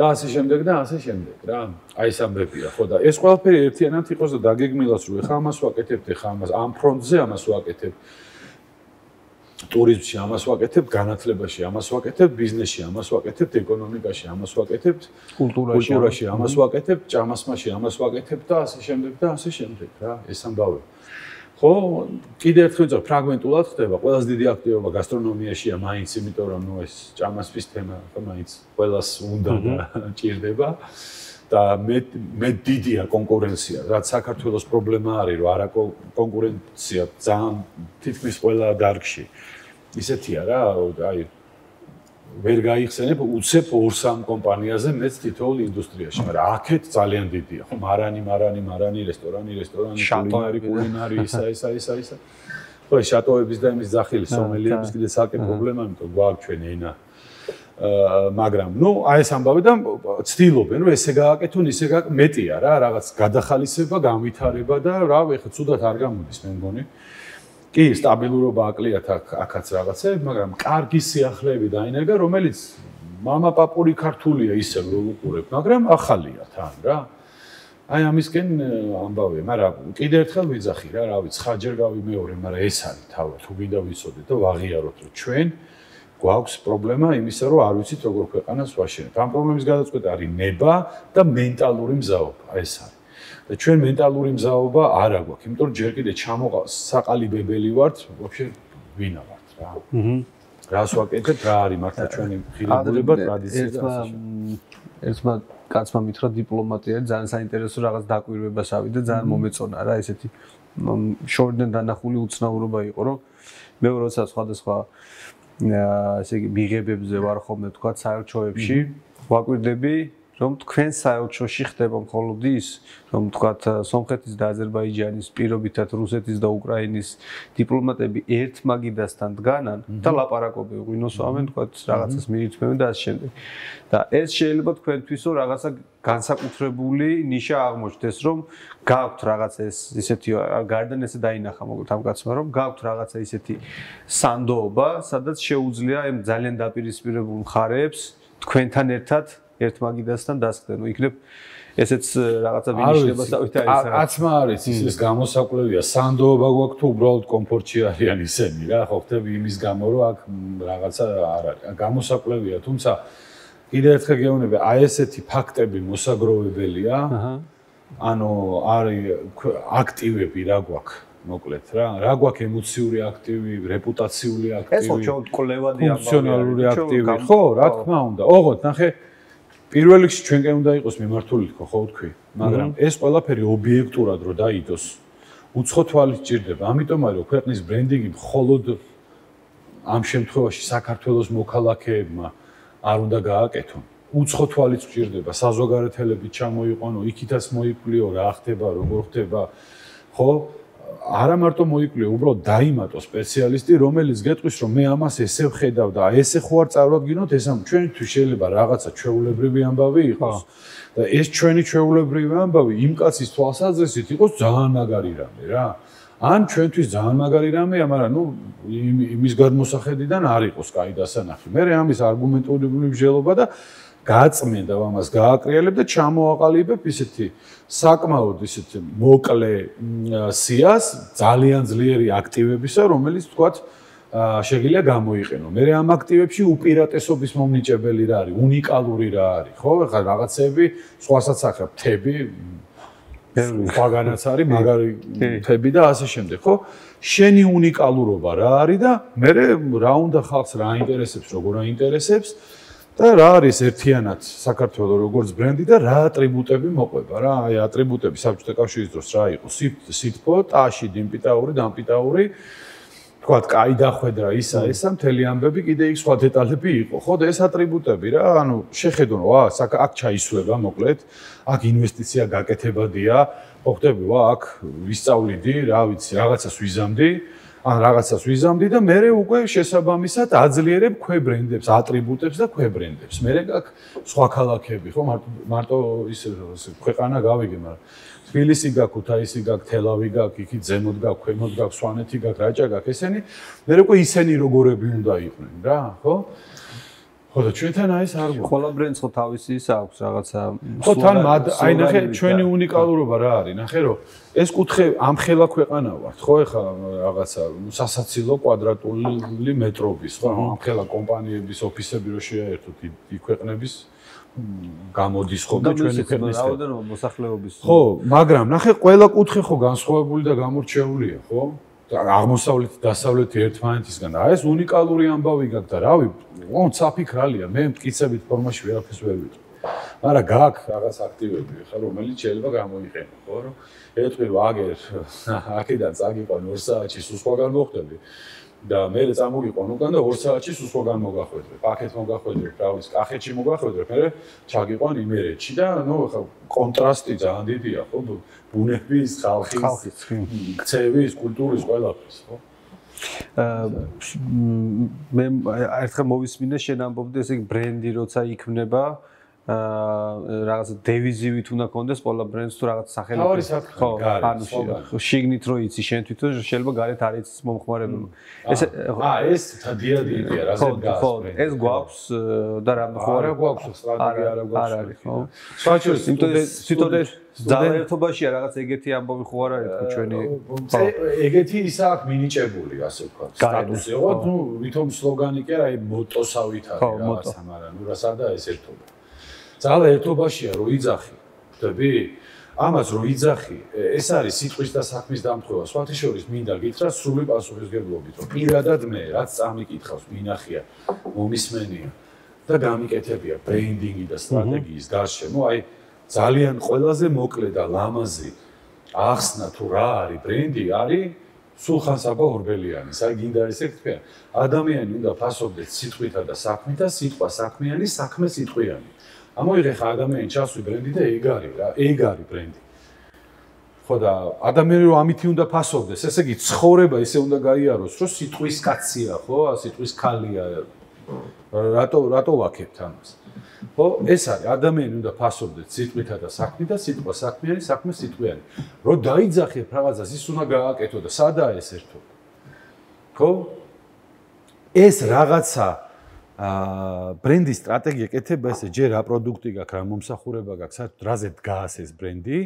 და ასე შემდეგ და ასე შემდეგ რა. აი ეს ამბებია, ხო და ეს ყველაფერი ერთიანად იყოს და დაგეგმილოს რომ ეხა ამას ვაკეთებთ, ეხა ამას ამ ფრონტზე ამას ვაკეთებთ. ტურიზმში ამას ვაკეთებთ, განათლებაში ამას ვაკეთებთ, ბიზნესში ამას ვაკეთებთ, ეკონომიკაში ამას ვაკეთებთ, კულტურაში ამას ვაკეთებთ, ჭამასმაში ამას ვაკეთებთ და ასე შემდეგ და ასე შემდეგ რა. ეს ამბავი. ხო, კიდევ ერთხელ ვიწევ, ფრაგმენტულად ხდება, ყველაზე დიდი აქტივობა გასტრონომიაშია მაინც, იმიტომ რომ ნუ ეს ჭამასპის თემა ხო მაინც ყველას უნდა და ჭირდება და მე მე დიდია კონკურენცია, რაც საქართველოს პრობლემა არის, რომ არა კონკურენცია ძალიან თითქმის ყველა დარგში. ისეთია რა, აი ვერ გაიხსენებ უცებ ორ-სამ კომპანიაზე მეც თითოეულ ინდუსტრიაში, მაგრამ აქეთ ძალიან დიდია, ხო, მარანი, მარანი, მარანი, რესტორანი, რესტორანი, კულინარი, კულინარი, ისა, ისა, ისა, ისა. ხო, შატოების და იმის ძახილი, სომელიების კიდე საკე პრობლემა, იმიტომ გვაქვს ჩვენ ენა. აა, მაგრამ, ნუ, აი ეს ამბავი და ცდილობენ, რომ ესე გააკეთონ, ისე გააკეთონ, მეტია რა, რაღაც გადახალისება, განვითარება და რა, ეხლა ცუდად არ გამოდის, მე მგონი. კი, სტაბილურობა აკლიათ აქაც რაღაცები, მაგრამ კარგი სიახლეები დაინერგა, რომელიც მამაპაპური ქართულია ისე რომ უყურებ, მაგრამ ახალია თან რა. აი ამისკენ ამბავია, მაგრამ კიდევ ერთხელ ვიძახი რა, რა ვიცი, ხაჯერ გავიმეორე, მაგრამ ეს არის თავი, თუ გინდა ვიცოდეთ და ვაღიაროთ, რომ ჩვენ გვაქვს პრობლემა იმისა, რომ არ ვიცით როგორ ქვეყანას ვაშენებთ. ამ პრობლემის გადაწყვეტა არის ნება და მენტალური მზაობა, ეს არის. და ჩვენ მენტალური მზაობა არ აქვს, იმიტომ რომ ჯერ კიდე ჩამოყალიბებელი ვართ, ვაფშე ვინა ვართ რა. აჰა. რას ვაკეთებთ, რა არის მართლა ჩვენი ღირებულება, ტრადიცია და ასე შემდეგ. ერთმა კაცმა მითხრა დიპლომატია ძალიან საინტერესო რაღაც დაკვირვებას ავიდა, ძალიან მომეწონა რა, ესეთი შორიდან დანახული უცნაურობა იყო, რომ მე როცა სხვადასხვა ესე იგი მიღებებზე ვარ ხოლმე თქვა საელჩოებში, ვაკვირდები რომ თქვენ საელჩოში ხდება მხოლოდ ის, რომ თქვათ სომხეთის და აზერბაიჯანის პირობითად რუსეთის და უკრაინის დიპლომატები ერთ მაგიდასთან დგანან და ლაპარაკობენ, ღვინოსავენ, თქვათ რაღაცას მიირთმევენ და ასე შემდეგ. და ეს შეიძლება თქვენთვისო რაღაცა განსაკუთრებული ნიშა აღმოჩნდეს, რომ გაქვთ რაღაცა ეს ისეთი გარდან ესე დაინახა მოგეთ ამ კაცმა, რომ გაქვთ რაღაცა ისეთი სანდოობა, სადაც შეუძლია ამ ძალიან დაპირისპირებულ მხარეებს თქვენთან ერთად ერთმაგიდასთან დასხდნენ. ნუ იქნებ ესეც რაღაცა ვინიშნებასავით არის რა. აცმა არის ის გამოსაკვლევია. სანდოობა გვაქვს თუ უბრალოდ კომფორტში არიან ისინი რა. ხო ხტები იმის გამო რომ აქ რაღაცა არ არის. გამოსაკვლევია, თუმცა კიდე ერთხელ გეუბნები, აი ესეთი ფაქტები მოსაგროვებელია. აჰა. ანუ არის აქტივები რა გვაქვს. მოკლედ რა, რა გვაქვს ემოციური აქტივი, რეპუტაციული აქტივი. ეს ხო ჩვენ კვლევადი ამბავია. ფუნქციონალური აქტივი, ხო, რა თქმა უნდა. ოღონდ ნახე პირველ რიგში ჩვენკენ უნდა იყოს მიმართული თქო, ხო ვთქვი, მაგრამ ეს ყველაფერი ობიექტურად რო დაიდოს, უცხო თვალით ჭირდება. ამიტომ არის რომ ქვეყნის ბრენდინგი მხოლოდ ამ შემთხვევაში საქართველოს მოქალაქეებმა არ უნდა გააკეთონ. უცხო თვალით ჭირდება, საზოგადოებრივი ჩამოიყვანო, იქითაც მოიკვლიო, რა ხდება, როგორ ხდება, ხო? არა მარტო მოიკვლიო, უბრალოდ დაიმატო სპეციალისტი, რომელიც გეტყვის, რომ მე ამას ესე ვხედავ და ესე ხო არ წარვადგინოთ, ეს ამ ჩვენთვის შეიძლება რაღაცა ჩვეულებრივი ამბავი იყოს და ეს ჩვენი ჩვეულებრივი ამბავი იმ კაცის თვალსაზრისით იყოს ძალიან მაგარი რამე რა. ან ჩვენთვის ძალიან მაგარი რამეა, მაგრამ ნუ იმის გადმოსახედიდან არ იყოს კაი დასანახი. მე ამის არგუმენტული მსჯელობა და გაწმენდა ამას გააკრიალებ და ჩამოაყალიბებ ისეთი საკმაოდ ისეთი მოკლე სიას ძალიან ძლიერი აქტივებისა, რომელიც თქვათ შეგიძლია გამოიყენო. მე ამ აქტივებში უპირატესობის მომნიჭებელი რა არის, უნიკალური რა არის, ხო? ეხლა რაღაცები სხვასაც ახლა თები სხვაგანაც არის, მაგარი თები და ასე შემდეგ, ხო? შენი უნიკალურობა რა არის და მე რა უნდა ხალხს რა აინტერესებს, როგორ აინტერესებს და რა არის ერთიანად საქართველოს როგორც ბრენდი და რა ატრიბუტები მოყვება რა. აი ატრიბუტები საბჭოთა კავშირის დროს რა იყო? სითბო, ტაში, დიმპიტაური, დამპიტაური, თქვათ, კაი დახვედრა, ისა, ესა, მთელი ამბები, კიდე იქ სხვა დეტალები იყო. ხო, და ეს ატრიბუტები რა, ანუ შეხედონ, ვა, აქ ჩაისვლება, მოკლედ, აქ ინვესტიცია გაკეთებადია, ხო ხტები, ვა, აქ ვისწავლიდი, რა ვიცი, რაღაცას ვიზამდი, ან რაღაცას ვიზამდი და მე უკვე შესაბამისად აძლიერებ ქვებრენდებს, ატრიბუტებს და ქვებრენდებს. მე აქ სხვა ქალაქები, ხო, მარტო მარტო ის ქვეყანა გავიგე, მაგრამ თბილისი გაქვს, ქუთაისი გაქვს, თელავი გაქვს, იქით ზემოთ გაქვს, ქვემოთ გაქვს, სვანეთი გაქვს, რაჭა გაქვს, ესენი მე უკვე ისენი როგორები უნდა იყვნენ რა, ხო? ხო და ჩვენთან აი ეს არ გვაქვს. ყველა ბრენდს ხო თავისი ის აქვს რაღაცა. ხო თან აი ნახე ჩვენი უნიკალურობა რა არის? ნახე რომ ეს კუთხე ამხელა ქვეყანა ვართ, ხო ეხლა რაღაცა სასაცილო კვადრატული მეტრობის, ხო? ამხელა კომპანიების ოფისები რო შეაერთოთ იქ ქვეყნების გამოდის ხო და ჩვენი ქვეყნის რაოდენობა მოსახლეობის. ხო, მაგრამ ნახე ყველა კუთხე ხო განსხვავებული და გამორჩეულია, ხო? აღმოსავლეთ დასავლეთი ერთმანეთისგან და ეს უნიკალური ამბავი გაქვს და რავი, ოღონდ საფიქრალია, მე მტკიცებით ფორმაში ვერაფერს ვერ ვიტყვი. მაგრამ გაქვს რაღაც აქტივები, ხა რომელიც შეიძლება გამოიყენო, ხო, რომ ეთქვი რომ აგერ აქედან წაგიყვან ორ საათში სულ სხვაგან მოხდები და მე წამოგიყვან უკან და ორ საათში სულ სხვაგან მოგახვედრე. პაკეთ მოგახვედრე, რა ვიცი, კახეთში მოგახვედრე, მე ჩაგიყვან იმერეთში და ნუ ხა კონტრასტი ძალიან დიდია, ხო, ბუნების, ხალხის, ქცევის, კულტურის ყველაფრის, ხო? მე ერთხელ მოვისმინე შენ ამბობდი, ესე იგი ბრენდი როცა იქმნება აა რაღაცა დევიზივით უნდა კონდეს ყველა ბრენდს თუ რაღაც სახელი ხო ანუ შიგნით რო იცი შენ თვითონ შეიძლება გარეთ არ იცის მომხმარებელი ეს აა ეს დიადია რაზე გას ხო ეს გვაქვს და რა ხო არა გვაქვს სტრატეგია არა გვაქვს არ არის ხო საჩურის თვითონ ძალაერთობაშია რაღაც ეგეთი ამბობი ხო არ არის ხო ჩვენი ეგეთი ისა აქ მინიჭებული ასე ვქოთ სტატუსი ხო ნუ ვითომ სლოგანი კი არა აი მოტოსავით არის რაღაცა მაგრამ ნუ რა სადა ეს ერთობა ძალა ერთობაშია რო იძახი ხდები ამას რო იძახი ეს არის სიტყვის და საქმის დამთხოვა სხვათა შორის მინდა გითხრა სრული პასუხისგებლობით რომ პირადად მე რაც წამიკითხავს მინახია მომისმენია და გამიკეთებია ბრენდინგი და სტრატეგიის გარშემო აი ძალიან ყველაზე მოკლე და ლამაზი ახსნა თუ რა არის ბრენდი არის სულხან-საბა ორბელიანის აი გინდა ესე თქვა ადამიანი უნდა ფასობდეს სიტყვითა და საქმით და სიტყვა საქმიანი საქმე სიტყვიანი ამოიღე ხა ადამიანი ჩასვი ბრენდი და ეგ არის რა ეგ არის ბრენდი ხო და ადამიანი რომ ამითი უნდა ფასობდეს ესე იგი ცხოვრება ისე უნდა გაიაროს რომ სიტყვის კაცია ხო სიტყვის ქალია რატო რატო ვაკეთებთ ამას ხო ეს არის ადამიანი უნდა ფასობდეს სიტყვითა და საქმით და სიტყვა საქმიანი საქმე სიტყვიანი რომ დაიძახებ რაღაცას ის უნდა გააკეთო და სადაა ეს ერთობა ხო ეს რაღაცა აა ბრენდის სტრატეგია კეთება ესე ჯერ რა პროდუქტი გაქვს, რა მომსახურება გაქვს, საერთოდ რაზე დგას ეს ბრენდი,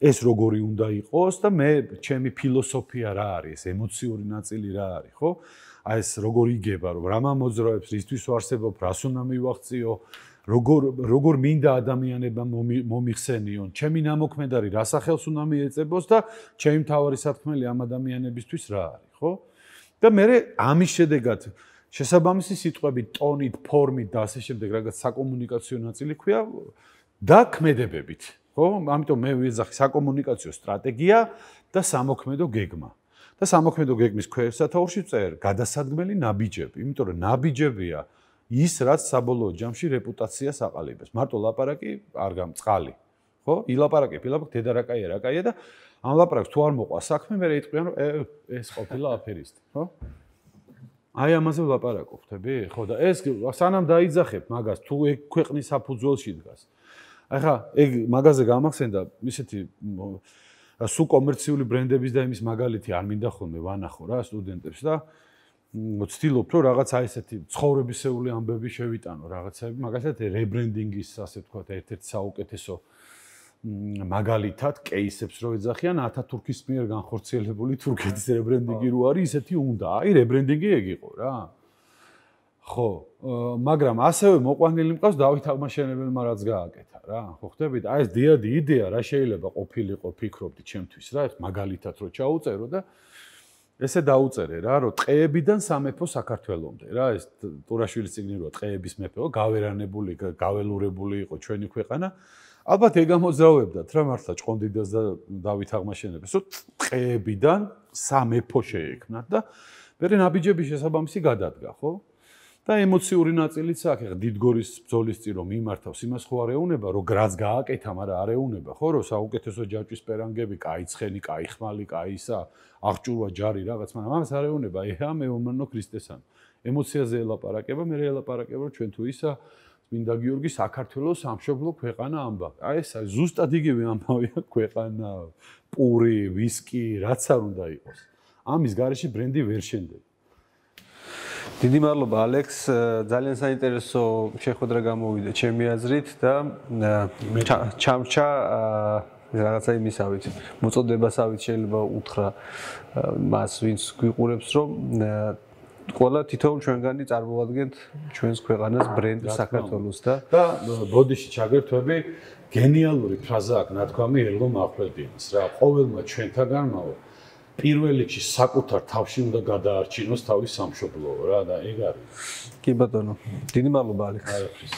ეს როგორი უნდა იყოს და მე ჩემი ფილოსოფია რა არის, ემოციური ნაწილი რა არის, ხო? აი ეს როგორ იგება, რომ რა მომოძრაობს, რისთვის ვარსებობ, რას უნდა მივახციო, როგორ როგორ მინდა ადამიანებმა მომიხსენიონ, ჩემი ნამოქმედარი რა სახელს უნდა მიეწებოს და ჩემი მთავარი სათქმელი ამ ადამიანებისთვის რა არის, ხო? და მე ამის შედეგად შესაბამისი სიტყვები, ტონით, ფორმით და ასე შემდეგ, რაღაც საკომუნიკაციო ნაწილი ქვია და ქმედებებით, ხო? ამიტომ მე ვიძახი საკომუნიკაციო სტრატეგია და სამოქმედო გეგმა. და სამოქმედო გეგმის ქვესათაურში წერ გადასადგმელი ნაბიჯები, იმიტომ რომ ნაბიჯებია ის, რაც საბოლოო ჯამში რეპუტაციას აყალიბებს. მარტო ლაპარაკი არ გამწყალი, ხო? ილაპარაკებ, ილაპარაკ დედარაკაია, რაკაია და ამ ლაპარაკს თუ არ მოყვა საქმე, მე იტყვიან რომ ეს ყოფილა აფერისტი, ხო? აი ამაზე ვლაპარაკობ, ხტები? ხო და ეს სანამ დაიძახებ მაგას, თუ ეგ ქვეყნის საფუძველში დგას. ახლა ეგ მაგაზე გამახსენდა ისეთი სულ კომერციული ბრენდების და იმის მაგალითი არ მინდა ხოლმე ვანახო რა სტუდენტებს და ვცდილობ რომ რაღაც აი ესეთი ცხოვრებისეული ამბები შევიტანო რაღაცები, მაგალითად რებრენდინგის ასე ვთქვათ ერთ-ერთი საუკეთესო მაგალითად კეისებს რო ეძახიან ათათურქის მიერ განხორციელებული თურქეთის რებრენდინგი რო არის ისეთი უნდა. აი რებრენდინგი ეგ იყო რა. ხო, მაგრამ ასევე მოყვანილი მყავს დავით აღმაშენებელმა რაც გააკეთა რა. ხო ხდებით? აი ეს დიადი იდეა რა შეიძლება ყოფილიყო ფიქრობდი ჩემთვის რა, ეს მაგალითად რო ჩაუწერო და ესე დაუწერე რა, რომ ტყეებიდან სამეფო საქართველომდე რა, ეს ტურაშვილის წიგნი რო ტყეების მეფეო, გავერანებული, გაველურებული იყო ჩვენი ქვეყანა. ალბათ ეგ ამოძრავებდათ რა მართლა ჭყონდიდას და დავით აღმაშენებელს, რომ ტყეებიდან სამეფო შეექმნათ და მე ნაბიჯების შესაბამისი გადადგა, ხო? და ემოციური ნაწილიც აქვს, ეხლა დიდგორის ბრძოლის წინ რომ მიმართავს, იმას ხო არ ეუნება, რომ გრაც გააკეთა, მაგრამ არ ეუნება, ხო, რომ საუკეთესო ჯაჭვის პერანგები, კაი ცხენი, კაი ხმალი, კაი ისა, აღჭურვა ჯარი რაღაც, მაგრამ ამას არ ეუნება, ეჰა მეომანო ქრისტესან. ემოციაზე ელაპარაკება, მე ელაპარაკება, რომ ჩვენ თუ ისა წმინდა გიორგი საქართველოს სამშობლო ქვეყანა ამბავ. აი ეს ზუსტად იგივე ამბავია ქვეყანა, პური, ვისკი, რაც არ უნდა იყოს. ამის გარეშე ბრენდი ვერ შენდება. დიდი მადლობა ალექს, ძალიან საინტერესო შეხვედრა გამოვიდა ჩემი აზრით და ჩამრჩა რაღაცა იმისავით, მოწოდებასავით შეიძლება უთხრა მას, ვინც გვიყურებს, რომ ყველა თითოეულ ჩვენგანი წარმოადგენთ ჩვენს ქვეყანას ბრენდ საქართველოს და და ბოდიში ჩაგერთვები გენიალური ფრაზა აქვს ნათქვამი ელღო მახვლედიანს რა, ყოველმა ჩვენთაგანმაო პირველ რიგში საკუთარ თავში უნდა გადაარჩინოს თავის სამშობლო რა და ეგ არის. კი ბატონო, დიდი მადლობა ალექს. არაფრის.